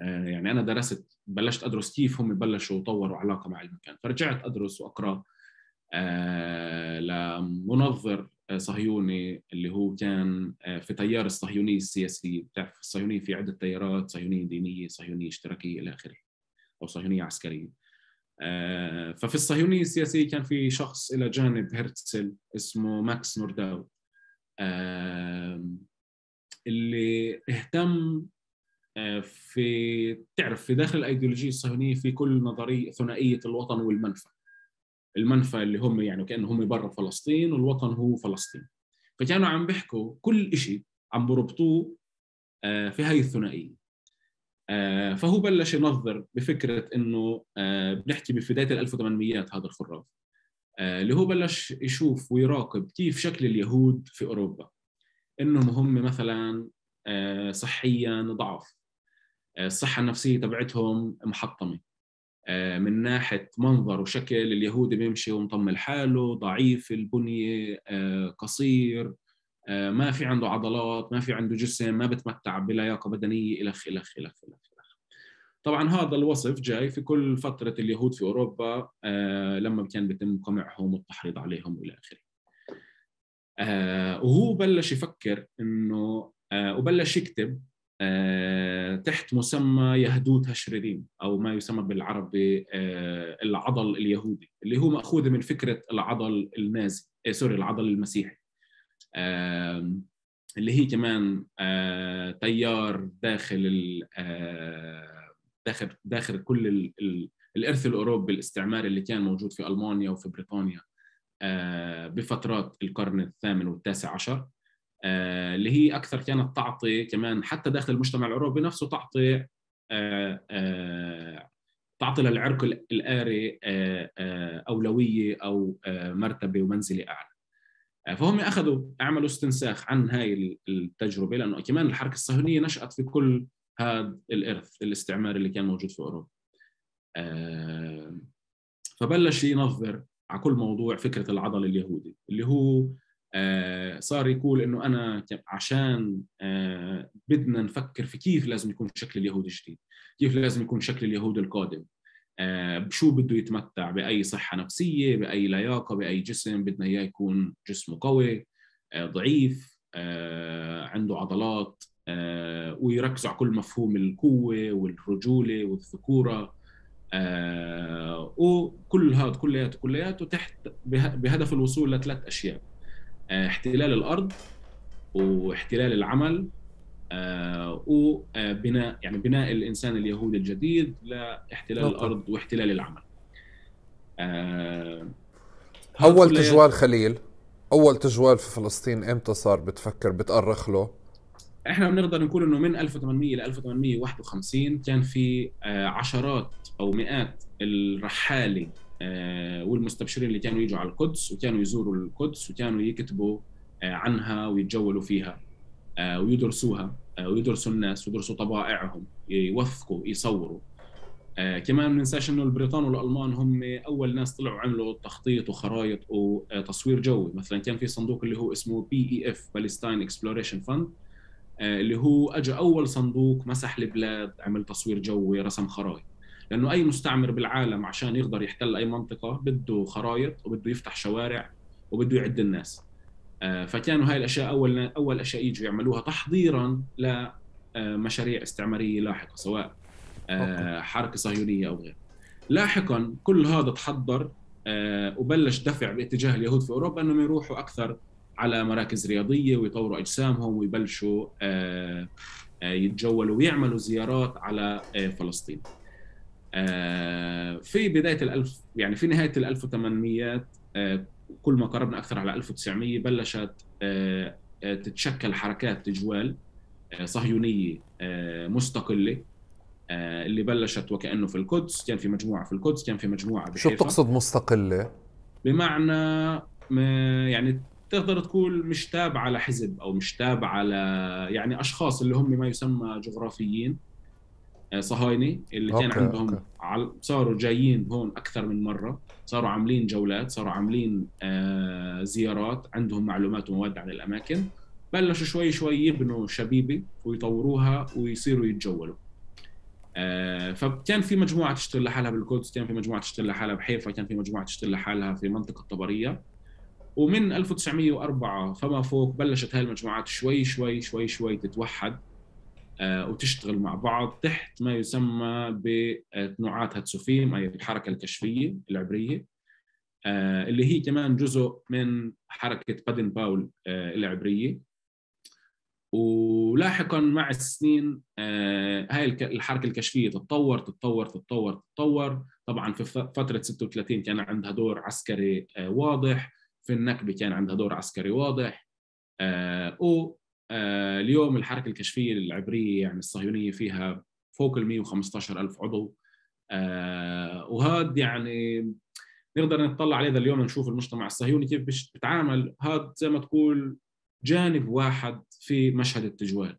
Speaker 1: آه يعني أنا درست بلشت أدرس كيف هم بلشوا يطوروا علاقة مع المكان، فرجعت أدرس وأقرأ آه لمنظر صهيوني اللي هو كان في تيار الصهيونية السياسية. بتعرف الصهيونية في عدة تيارات، صهيونية دينية، صهيونية اشتراكية إلى آخره، أو صهيونية عسكرية. آه ففي الصهيونية السياسية كان في شخص إلى جانب هرتزل اسمه ماكس نورداو آه اللي اهتم آه في تعرف في داخل الأيديولوجية الصهيونية في كل نظرية ثنائية الوطن والمنفى. المنفى اللي هم يعني كأنه هم برا فلسطين والوطن هو فلسطين، فكانوا عم بيحكوا كل إشي عم بربطوه آه في هاي الثنائية. آه فهو بلش ينظر بفكرة إنه آه بنحكي ببداية الألف وثمانميات هذا الخراف آه اللي هو بلش يشوف ويراقب كيف شكل اليهود في أوروبا، إنهم هم مثلا آه صحيا ضعف، آه الصحة النفسية تبعتهم محطمة، آه من ناحية منظر وشكل اليهودي بيمشي ومطمل حاله، ضعيف البنية، آه قصير، آه ما في عنده عضلات، ما في عنده جسم، ما بتمتع بلياقة بدنية إلخ إلخ إلخ إلخ. طبعا هذا الوصف جاي في كل فترة اليهود في أوروبا آه لما كان بيتم قمعهم والتحريض عليهم وإلى آخره. آه وهو بلش يفكر إنه آه وبلش يكتب آه تحت مسمى يهدوت هشريريم، أو ما يسمى بالعربي آه العضل اليهودي، اللي هو مأخوذ من فكرة العضل النازي، آه سوري العضل المسيحي. آه اللي هي كمان آه تيار داخل آه داخل داخل كل ال ال الإرث الأوروبي الاستعماري اللي كان موجود في ألمانيا وفي بريطانيا آه بفترات القرن الثامن والتاسع عشر، آه اللي هي أكثر كانت تعطي كمان حتى داخل المجتمع الأوروبي نفسه تعطي آه آه تعطي للعرق الآري آه آه أولوية أو آه مرتبة ومنزلة أعلى. فهم أخذوا عملوا استنساخ عن هاي التجربة، لأنه كمان الحركة الصهيونية نشأت في كل هذا الإرث الاستعماري اللي كان موجود في أوروبا. فبلش ينظر على كل موضوع فكرة العضل اليهودي، اللي هو صار يقول إنه أنا عشان بدنا نفكر في كيف لازم يكون شكل اليهود الجديد، كيف لازم يكون شكل اليهود القادم، بشو بده يتمتع، بأي صحة نفسية، بأي لياقة، بأي جسم بدنا إياه يكون جسمه قوي ضعيف عنده عضلات، ويركزوا على كل مفهوم القوة والرجولة والذكورة، وكل هذا كلياته كلياته تحت بهدف الوصول لثلاث أشياء: احتلال الأرض واحتلال العمل آه وبناء يعني بناء الإنسان اليهودي الجديد لاحتلال
Speaker 2: أوكي.
Speaker 1: الأرض واحتلال العمل.
Speaker 2: آه أول تجوال خليل، أول تجوال في فلسطين إمتى صار بتفكر بتأرخ له؟
Speaker 1: إحنا بنقدر نقول إنه من ألف وثمانمئة إلى ألف وثمانمئة وواحد وخمسين كان في آه عشرات أو مئات الرحالة آه والمستبشرين اللي كانوا يجوا على القدس وكانوا يزوروا القدس وكانوا يكتبوا آه عنها ويتجولوا فيها آه ويدرسوها ويدرسوا الناس ويدرسوا طبائعهم، يوثقوا، يصوروا. آه كمان ما ننساش انه البريطان والالمان هم اول ناس طلعوا عملوا تخطيط وخرائط وتصوير جوي. مثلا كان في صندوق اللي هو اسمه بي اي اف بالستاين اكسبلوريشن فند، اللي هو اجى اول صندوق مسح البلاد، عمل تصوير جوي، رسم خرائط، لانه اي مستعمر بالعالم عشان يقدر يحتل اي منطقه بده خرائط وبده يفتح شوارع وبده يعد الناس. فكانوا هاي الأشياء أول أول أشياء يجوا يعملوها تحضيراً لمشاريع استعمارية لاحقة، سواء حركة صهيونية أو غير. لاحقاً كل هذا تحضر وبلش دفع باتجاه اليهود في أوروبا أنهم يروحوا أكثر على مراكز رياضية ويطوروا أجسامهم ويبلشوا يتجولوا ويعملوا زيارات على فلسطين. في بداية الألف يعني في نهاية الألف وثمانمئة كل ما قربنا أكثر على ألف وتسعمئة بلشت تتشكل حركات تجوال صهيونية مستقلة اللي بلشت وكأنه في القدس، كان في مجموعة في القدس، كان في مجموعة بحيفا.
Speaker 2: شو بتقصد مستقلة؟
Speaker 1: بمعنى يعني تقدر تقول مش تابعة لحزب أو مش تابعة ل يعني أشخاص اللي هم ما يسمى جغرافيين صهاينة اللي كان
Speaker 2: أوكي.
Speaker 1: عندهم
Speaker 2: أوكي.
Speaker 1: صاروا جايين هون أكثر من مرة، صاروا عاملين جولات، صاروا عاملين آه زيارات، عندهم معلومات ومواد عن الأماكن، بلشوا شوي شوي يبنوا شبيبة ويطوروها ويصيروا يتجولوا. آه فكان في مجموعة تشتغل لحالها بالقدس، كان في مجموعة تشتغل لحالها بحيفا، كان في مجموعة تشتغل لحالها في منطقة طبرية. ومن ألف وتسعمئة وأربعة فما فوق بلشت هاي المجموعات شوي شوي شوي شوي تتوحد وتشتغل مع بعض تحت ما يسمى بتنوعات هاتسوفيم، أي الحركة الكشفية العبرية، اللي هي كمان جزء من حركة بادن باول العبرية. ولاحقا مع السنين هاي الحركة الكشفية تتطور تتطور تتطور تتطور. طبعا في فترة ستة وثلاثين كان عندها دور عسكري واضح، في النكبة كان عندها دور عسكري واضح، و آه اليوم الحركة الكشفية العبرية يعني الصهيونية فيها فوق ال مئة وخمسة عشر ألف عضو. آه وهذا يعني نقدر نطلع عليه اليوم نشوف المجتمع الصهيوني كيف بتعامل. هذا زي ما تقول جانب واحد في مشهد التجوال.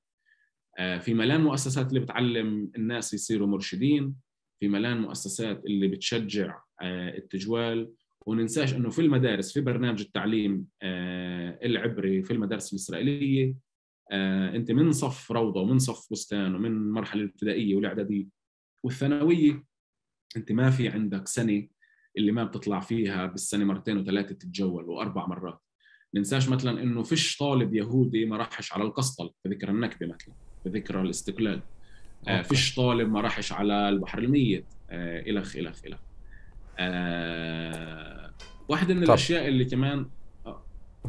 Speaker 1: آه في ملان مؤسسات اللي بتعلم الناس يصيروا مرشدين، في ملان مؤسسات اللي بتشجع آه التجوال. وننساش أنه في المدارس في برنامج التعليم آه العبري في المدارس الإسرائيلية، آه، أنت من صف روضة ومن صف بستان ومن مرحلة الابتدائية والإعدادية والثانوية أنت ما في عندك سنة اللي ما بتطلع فيها بالسنة مرتين وثلاثة تتجول وأربع مرات. ننساش مثلا إنه فيش طالب يهودي ما راحش على القسطل في ذكرى النكبة، مثلا في ذكرى الاستقلال. آه، فيش طالب ما راحش على البحر الميت، آه، إلخ إلخ إلخ. آه، واحدة من
Speaker 2: طب.
Speaker 1: الأشياء اللي كمان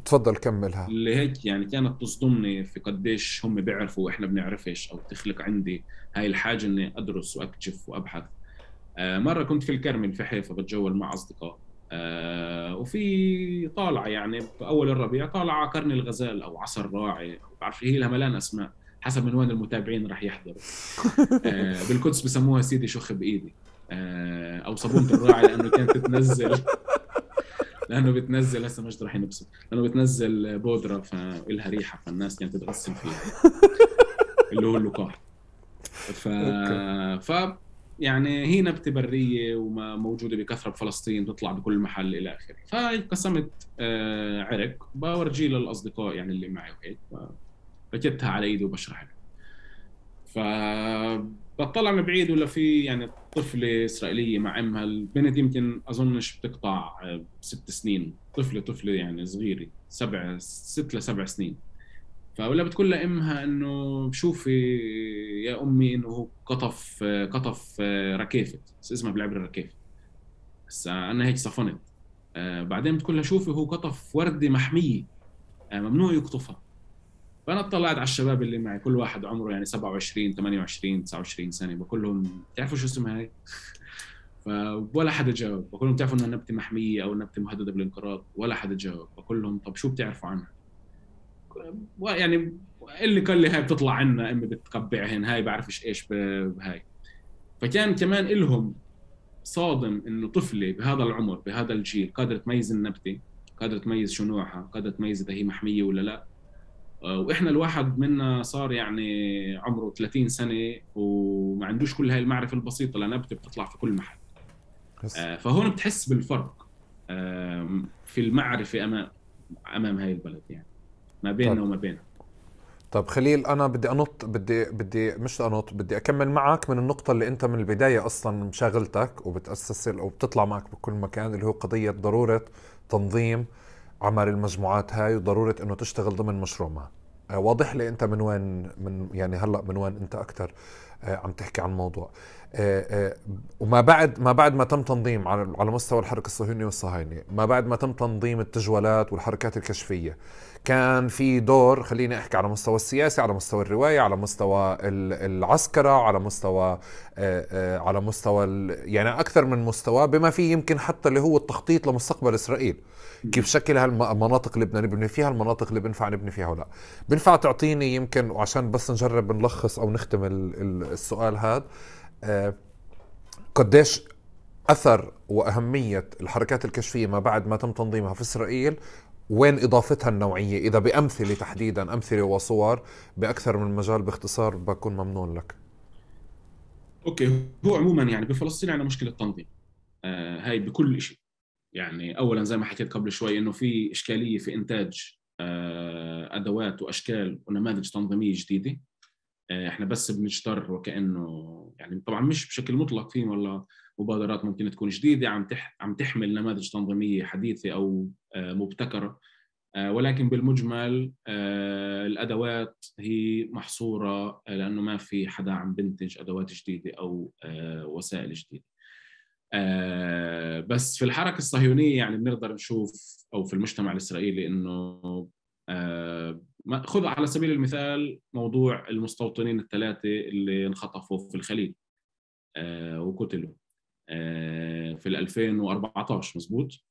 Speaker 2: تفضل كملها.
Speaker 1: اللي هيك يعني كانت تصدمني في قديش هم بيعرفوا وإحنا بنعرفش، أو تخلق عندي هاي الحاجة إني أدرس وأكتشف وأبحث. آه، مرة كنت في الكرمل في حيفا بتجول مع أصدقاء، آه، وفي طالعة يعني بأول الربيع طالعة على قرن الغزال أو عصر راعي، أو بعرف هي لها ملان أسماء حسب من وين المتابعين راح يحضروا. آه، بالقدس بسموها سيدي شخ بإيدي، آه، أو صابونة الراعي، لأنه كانت تتنزل لأنه بتنزل هسه مش راح ينبسط، لأنه بتنزل بودرة فإلها ريحة، فالناس كانت تتغسل فيها، اللي هو اللقاح. ف...
Speaker 2: اوكي.
Speaker 1: ف يعني هي نبتة برية وموجودة بكثرة بفلسطين، تطلع بكل محل إلى آخره. فقسمت آه، عرق بورجيه للأصدقاء يعني اللي معي وهيك، فركبتها على إيدي وبشرح لها. فبطلع من بعيد ولا في يعني طفلة إسرائيلية مع أمها، البنت يمكن أظنش بتقطع آه، ست سنين، طفلة طفلة يعني صغيرة، سبع ست لسبع سنين. فولا بتقول لأمها إنه شوفي يا أمي إنه هو قطف قطف ركيفة، بس اسمها بالعبري ركيفة. بس أنا هيك صفنت. آه، بعدين بتقول لها شوفي هو قطف وردة محمية، آه، ممنوع يقطفها. فأنا اطلعت على الشباب اللي معي، كل واحد عمره يعني سبعة وعشرين ثمانية وعشرين تسعة وعشرين سنة، بقول لهم تعرفوا شو اسمها هاي؟ فولا حدا جاوب. بقول لهم تعرفوا إنها نبتة محمية أو نبتة مهددة بالانقراض؟ ولا حدا جاوب. بقول لهم طب شو بتعرفوا عنها؟ يعني اللي قال لي هاي بتطلع عنا، امي بتقبعهن، هاي بعرفش ايش بهاي. فكان كمان إلهم صادم انه طفله بهذا العمر بهذا الجيل قادره تميز النبته، قادره تميز شو نوعها، قادره تميز اذا هي محميه ولا لا. آه، واحنا الواحد منا صار يعني عمره ثلاثين سنه وما عندوش كل هاي المعرفه البسيطه لنبته بتطلع في كل محل.
Speaker 2: بس
Speaker 1: آه، فهون بتحس بالفرق آه، في المعرفه امام امام هاي البلد، يعني ما
Speaker 2: طب
Speaker 1: بيننا وما بينها.
Speaker 2: طب خليل، انا بدي انط بدي بدي مش انط بدي اكمل معك من النقطة اللي انت من البداية اصلا مشاغلتك وبتأسس او بتطلع معك بكل مكان، اللي هو قضية ضرورة تنظيم عمل المجموعات هاي وضرورة انه تشتغل ضمن مشروع ما. آه، واضح لي انت من وين، من يعني هلا من وين انت اكثر آه، عم تحكي عن الموضوع. آه، آه، وما بعد ما بعد ما تم تنظيم على على مستوى الحركة الصهيونية والصهاينة، ما بعد ما تم تنظيم التجوالات والحركات الكشفية، كان في دور، خليني احكي على مستوى السياسي، على مستوى الرواية، على مستوى العسكرة، على مستوى آه، آه، على مستوى يعني اكثر من مستوى، بما فيه يمكن حتى اللي هو التخطيط لمستقبل اسرائيل، كيف شكل هالمناطق اللي بدنا نبني فيها، المناطق اللي بنفع نبني فيها ولا. بنفع تعطيني يمكن، وعشان بس نجرب نلخص او نختم السؤال هذا، آه، قديش أثر وأهمية الحركات الكشفية ما بعد ما تم تنظيمها في إسرائيل، وين إضافتها النوعية، إذا بأمثلة تحديدا، أمثلة وصور بأكثر من مجال، باختصار بكون ممنون لك.
Speaker 1: اوكي، هو عموما يعني بفلسطين عندنا مشكله تنظيم، آه هاي بكل شيء. يعني اولا زي ما حكيت قبل شوي انه في اشكاليه في انتاج آه ادوات واشكال ونماذج تنظيميه جديده. آه احنا بس بنجتر وكانه يعني طبعا مش بشكل مطلق، في والله مبادرات ممكن تكون جديده عم تح عم تحمل نماذج تنظيميه حديثه او آه مبتكره، آه ولكن بالمجمل آه الادوات هي محصوره، آه لانه ما في حدا عم بنتج ادوات جديده او آه وسائل جديده. آه بس في الحركة الصهيونية يعني بنقدر نشوف، أو في المجتمع الإسرائيلي، إنه آه خذ على سبيل المثال موضوع المستوطنين الثلاثة اللي انخطفوا في الخليل آه وقتلوا آه في ألفين وأربعة عشر مزبوط.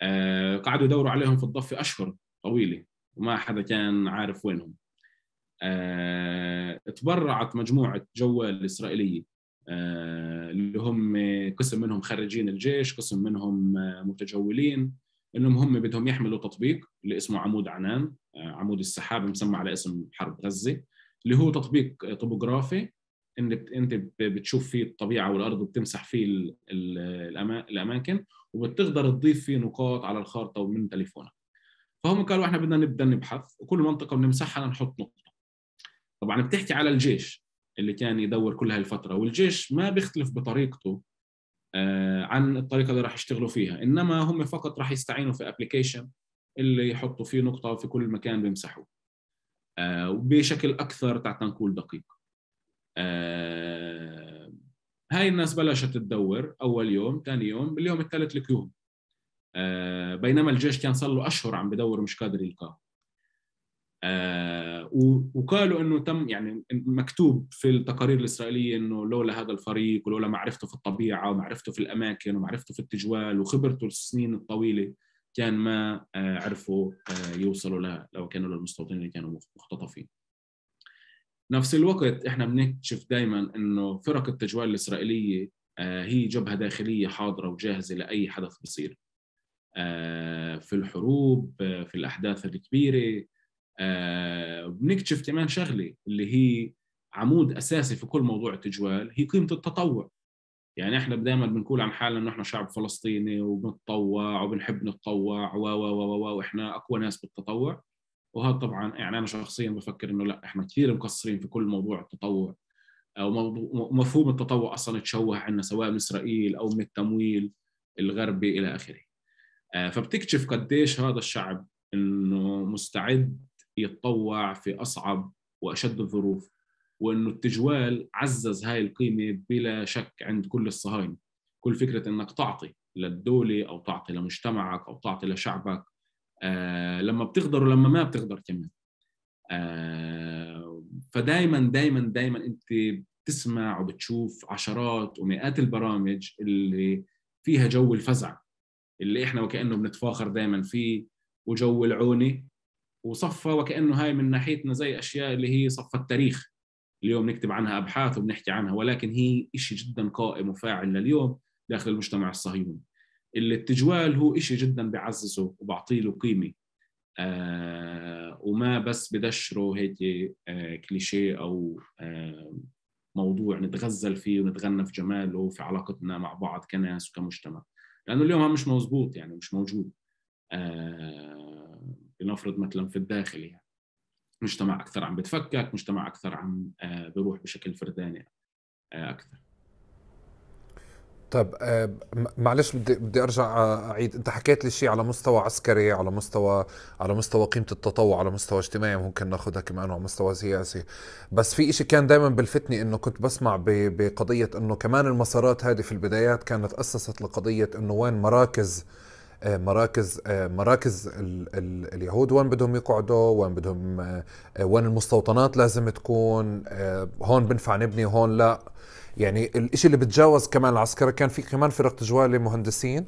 Speaker 1: آه قعدوا يدوروا عليهم في الضفة أشهر طويلة وما حدا كان عارف وينهم. آه تبرعت مجموعة جوال إسرائيلية آه اللي هم قسم منهم خريجين الجيش، قسم منهم آه متجولين، انهم هم بدهم يحملوا تطبيق اللي اسمه عمود عنان، آه عمود السحاب مسمى على اسم حرب غزة، اللي هو تطبيق طبوغرافي ان انت بتشوف فيه الطبيعة والارض وبتمسح فيه ال ال الاماكن، وبتقدر تضيف فيه نقاط على الخارطة ومن تليفونك. فهم قالوا احنا بدنا نبدا نبحث وكل منطقة بنمسحها نحط نقطة. طبعا بتحكي على الجيش اللي كان يدور كل هالفترة، والجيش ما بيختلف بطريقته آه عن الطريقة اللي راح يشتغلوا فيها، إنما هم فقط راح يستعينوا في أبليكيشن اللي يحطوا فيه نقطة في كل مكان بيمسحوه آه وبشكل أكثر تنقل دقيق. آه هاي الناس بلشت تدور أول يوم، ثاني يوم، باليوم الثالث لقيوهم. بينما الجيش كان صار له أشهر عم بدور مش قادر يلقاه. آه وقالوا انه تم يعني مكتوب في التقارير الاسرائيليه انه لولا هذا الفريق ولولا معرفته في الطبيعه ومعرفته في الاماكن ومعرفته في التجوال وخبرته السنين الطويله كان ما آه عرفوا آه يوصلوا له لو كانوا للمستوطنين اللي كانوا مختطفين. نفس الوقت احنا بنكتشف دائما انه فرق التجوال الاسرائيليه آه هي جبهه داخليه حاضره وجاهزه لاي حدث بصير آه في الحروب، آه في الاحداث الكبيره. آه بنكتشف كمان شغلة اللي هي عمود أساسي في كل موضوع التجوال، هي قيمة التطوع. يعني إحنا دائما بنقول عن حالنا إنه إحنا شعب فلسطيني وبنتطوع وبنحب نتطوع و و و وإحنا أقوى ناس بالتطوع. وهذا طبعا يعني أنا شخصيا بفكر إنه لا، إحنا كثير مقصرين في كل موضوع التطوع، أو موضوع مفهوم التطوع أصلا تشوه عنا سواء من إسرائيل أو من التمويل الغربي إلى آخره. آه فبتكتشف قديش هذا الشعب إنه مستعد يتطوع في أصعب وأشد الظروف، وإنه التجوال عزز هاي القيمة بلا شك عند كل الصهاينة. كل فكرة إنك تعطي للدولة أو تعطي لمجتمعك أو تعطي لشعبك آه لما بتقدر ولما ما بتقدر كمان. آه فدايما دايما دايما أنت بتسمع وبتشوف عشرات ومئات البرامج اللي فيها جو الفزع اللي إحنا وكأنه بنتفاخر دايما فيه، وجو العونة، وصفى وكأنه هاي من ناحيتنا زي أشياء اللي هي صفى التاريخ اليوم نكتب عنها أبحاث وبنحكي عنها، ولكن هي إشي جدا قائم وفاعل لليوم داخل المجتمع الصهيوني. اللي التجوال هو إشي جدا بعززه وبعطيله قيمة، آه وما بس بدشره هيك آه كليشيه أو آه موضوع نتغزل فيه ونتغنى في جماله في علاقتنا مع بعض كناس وكمجتمع، لأنه اليوم مش مزبوط، يعني مش موجود. آه لنفرض مثلا في الداخل يعني مجتمع أكثر عم بتفكك، مجتمع أكثر عم آه بيروح بشكل فرداني آه أكثر.
Speaker 2: طيب آه معلش بدي بدي ارجع اعيد، انت حكيت لي شيء على مستوى عسكري، على مستوى على مستوى قيمه التطوع، على مستوى اجتماعي ممكن ناخذها كمان، على مستوى سياسي. بس في شيء كان دائما بلفتني انه كنت بسمع بقضيه انه كمان المسارات هذه في البدايات كانت اسست لقضيه انه وين مراكز مراكز مراكز ال ال اليهود وين بدهم يقعدوا، وين بدهم وين المستوطنات لازم تكون، هون بنفع نبني هون لا. يعني الاشي اللي بتجاوز كمان العسكرة كان في كمان فرق تجوال مهندسين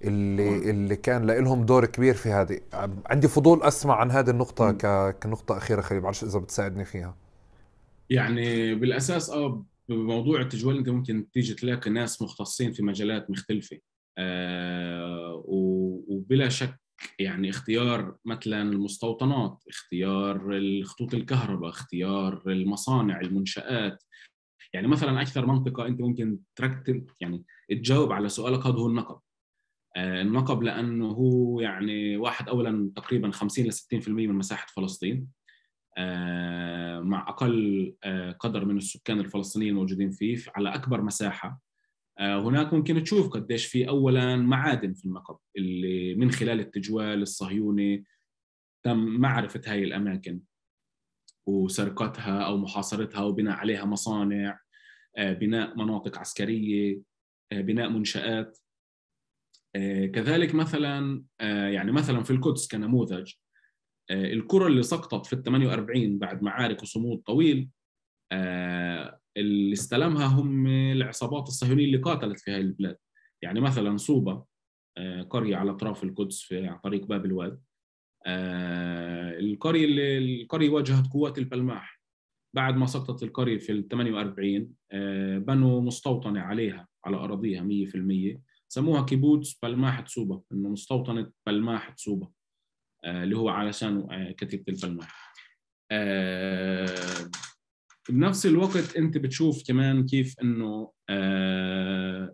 Speaker 2: اللي اللي كان لهم دور كبير في هذه. عندي فضول اسمع عن هذه النقطة كنقطة أخيرة خليل، بعرفش إذا بتساعدني فيها.
Speaker 1: يعني بالأساس اه بموضوع التجوال انت ممكن تيجي تلاقي ناس مختصين في مجالات مختلفة، آه وبلا شك يعني اختيار مثلا المستوطنات، اختيار الخطوط الكهرباء، اختيار المصانع، المنشآت. يعني مثلا اكثر منطقه انت ممكن تركب يعني تجاوب على سؤالك هذا هو النقب. آه النقب لانه هو يعني واحد اولا تقريبا خمسين ل ستين بالمئة من مساحه فلسطين، آه مع اقل آه قدر من السكان الفلسطينيين الموجودين فيه على اكبر مساحه. آه هناك ممكن تشوف قديش في اولا معادن في النقب اللي من خلال التجوال الصهيوني تم معرفه هاي الاماكن وسرقتها او محاصرتها وبناء عليها مصانع، بناء مناطق عسكرية، بناء منشآت. كذلك مثلا يعني مثلا في القدس كنموذج، القرى اللي سقطت في الثمانية وأربعين بعد معارك وصمود طويل اللي استلمها هم العصابات الصهيونية اللي قاتلت في هذه البلاد. يعني مثلا صوبة قرية على أطراف القدس في طريق باب الواد، القرية اللي القرية واجهت قوات البلماح بعد ما سقطت القرية في ال ثمانية وأربعين، بنوا مستوطنة عليها على أراضيها مية بالمية، سموها كيبوتس بلماح تصوبة، إنه مستوطنة بلماح تصوبة اللي هو علشان كتيبة البلماح. بنفس الوقت أنت بتشوف كمان كيف إنه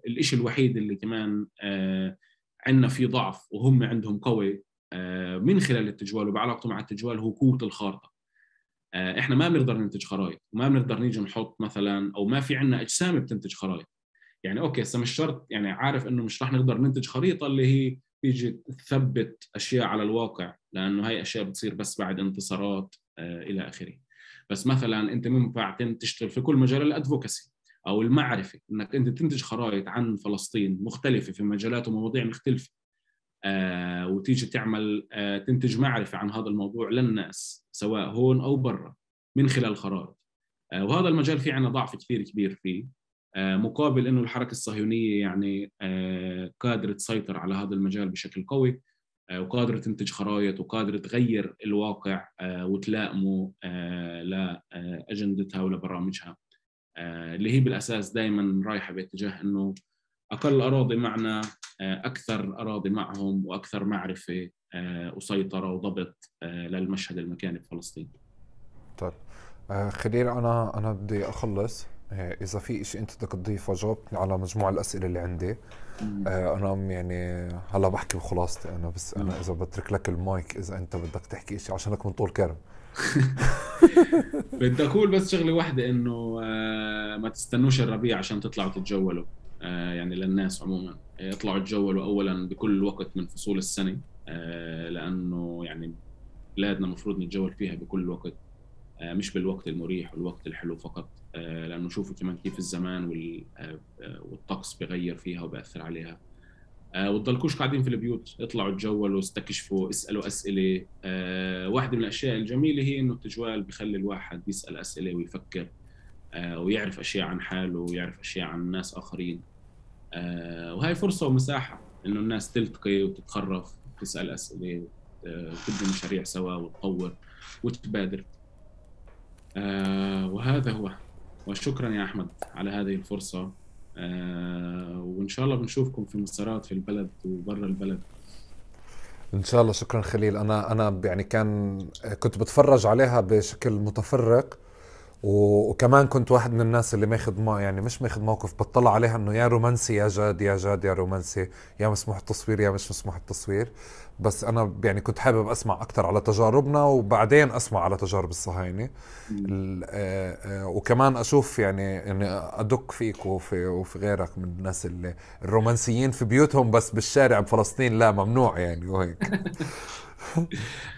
Speaker 1: الإشي الوحيد اللي كمان عندنا فيه ضعف وهم عندهم قوي من خلال التجوال وبعلاقته مع التجوال هو قوة الخارطة. احنا ما بنقدر ننتج خرائط وما بنقدر نيجي نحط مثلا، او ما في عندنا اجسام بتنتج خرائط. يعني اوكي هسه مش شرط، يعني عارف انه مش راح نقدر ننتج خريطه اللي هي تيجي تثبت اشياء على الواقع، لانه هاي اشياء بتصير بس بعد انتصارات آه الى اخره. بس مثلا انت ينفع تشتغل في كل مجال الادفوكسي او المعرفه، انك انت تنتج خرائط عن فلسطين مختلفه في مجالات ومواضيع مختلفه. آه وتيجي تعمل آه تنتج معرفة عن هذا الموضوع للناس سواء هون أو برا من خلال خرائط. آه وهذا المجال فيه عنا ضعف كثير كبير فيه، آه مقابل إنه الحركة الصهيونية يعني آه قادرة تسيطر على هذا المجال بشكل قوي، آه وقادرة تنتج خرائط وقادرة تغير الواقع آه وتلائمه آه لأجندتها ولبرامجها، آه اللي هي بالأساس دائما رايحة باتجاه إنه أقل أراضي معنا أكثر أراضي معهم وأكثر معرفة وسيطرة وضبط للمشهد المكاني في فلسطين.
Speaker 2: طيب خليل، أنا أنا بدي أخلص، إذا في إشي أنت بدك تضيفه جاوبني على مجموعة الأسئلة اللي عندي. مم. أنا يعني هلا بحكي بخلاصتي أنا بس أنا إذا بترك لك المايك إذا أنت بدك تحكي إشي عشانك من طول كرم.
Speaker 1: بدي أقول بس شغلة واحدة، إنه ما تستنوش الربيع عشان تطلعوا تتجولوا، يعني للناس عموما يطلعوا يتجولوا أولا بكل وقت من فصول السنة، لأنه يعني بلادنا مفروض نتجول فيها بكل وقت، مش بالوقت المريح والوقت الحلو فقط، لأنه شوفوا كمان كيف الزمان والطقس بغير فيها وبأثر عليها. وتضلكوش قاعدين في البيوت، اطلعوا تجولوا، استكشفوا، اسألوا أسئلة. واحدة من الأشياء الجميلة هي إنه التجوال بيخلي الواحد يسأل أسئلة ويفكر ويعرف أشياء عن حاله ويعرف أشياء عن ناس آخرين، وهي فرصة ومساحة إنه الناس تلتقي وتتخرف وتسأل أسئلة وتبني مشاريع سوا وتطور وتبادر. وهذا هو، وشكرا يا أحمد على هذه الفرصة، وإن شاء الله بنشوفكم في مسارات في البلد وبرا البلد
Speaker 2: إن شاء الله. شكرا خليل. أنا أنا يعني كان كنت بتفرج عليها بشكل متفرق، وكمان كنت واحد من الناس اللي ماخذ ما يعني مش ماخذ موقف، بتطلع عليها انه يا رومانسي يا جاد، يا جاد يا رومانسي، يا مسموح التصوير يا مش مسموح التصوير. بس انا يعني كنت حابب اسمع اكثر على تجاربنا وبعدين اسمع على تجارب الصهاينه، وكمان اشوف يعني يعني ادق فيك وفي وفي غيرك من الناس اللي الرومانسيين في بيوتهم بس بالشارع بفلسطين لا ممنوع يعني وهيك.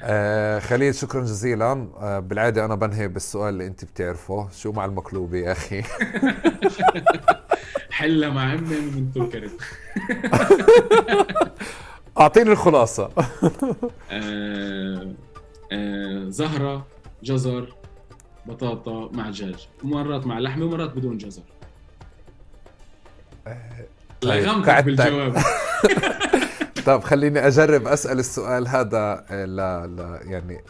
Speaker 2: آه خليل شكرا جزيلا. آه بالعادة أنا بنهي بالسؤال اللي أنت بتعرفه، شو مع المقلوبة يا أخي؟
Speaker 1: حلة مع أمي من طول كرم.
Speaker 2: أعطيني الخلاصة.
Speaker 1: آه آه زهرة، جزر، بطاطا مع دجاج، ومرات مع لحمة ومرات بدون جزر.
Speaker 2: آه
Speaker 1: لغمتك بالجواب.
Speaker 2: طب خليني أجرب أسأل السؤال هذا. لا لا يعني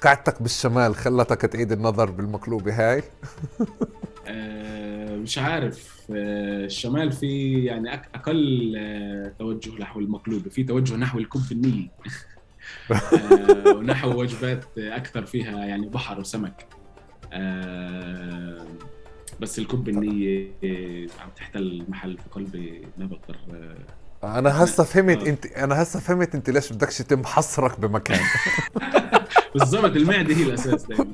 Speaker 2: قعدتك بالشمال خلتك تعيد النظر بالمقلوبة هاي؟
Speaker 1: أه مش عارف. أه الشمال في يعني أقل أه توجه نحو المقلوبة، في توجه نحو الكب النيلي. أه ونحو وجبات أكثر فيها يعني بحر وسمك. أه بس الكب النية عم تحتل محل في قلبي، ما بقدر. أه
Speaker 2: انا هسه فهمت انت انا هسه فهمت انت ليش بدكش يتم حصرك بمكان.
Speaker 1: بالضبط، المعده هي الاساس دائما.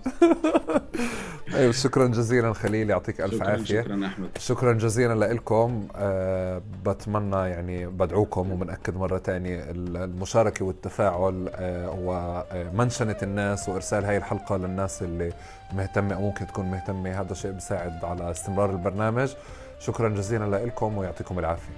Speaker 2: ايوه شكرا جزيلا خليل، يعطيك الف
Speaker 1: شكرا
Speaker 2: عافيه.
Speaker 1: شكرا احمد.
Speaker 2: شكرا جزيلا لكم. أه بتمنى يعني بدعوكم وبنأكد مره ثانيه المشاركه والتفاعل أه ومنشنه الناس وارسال هاي الحلقه للناس اللي مهتمه او ممكن تكون مهتمه، هذا شيء بيساعد على استمرار البرنامج. شكرا جزيلا لكم ويعطيكم العافيه.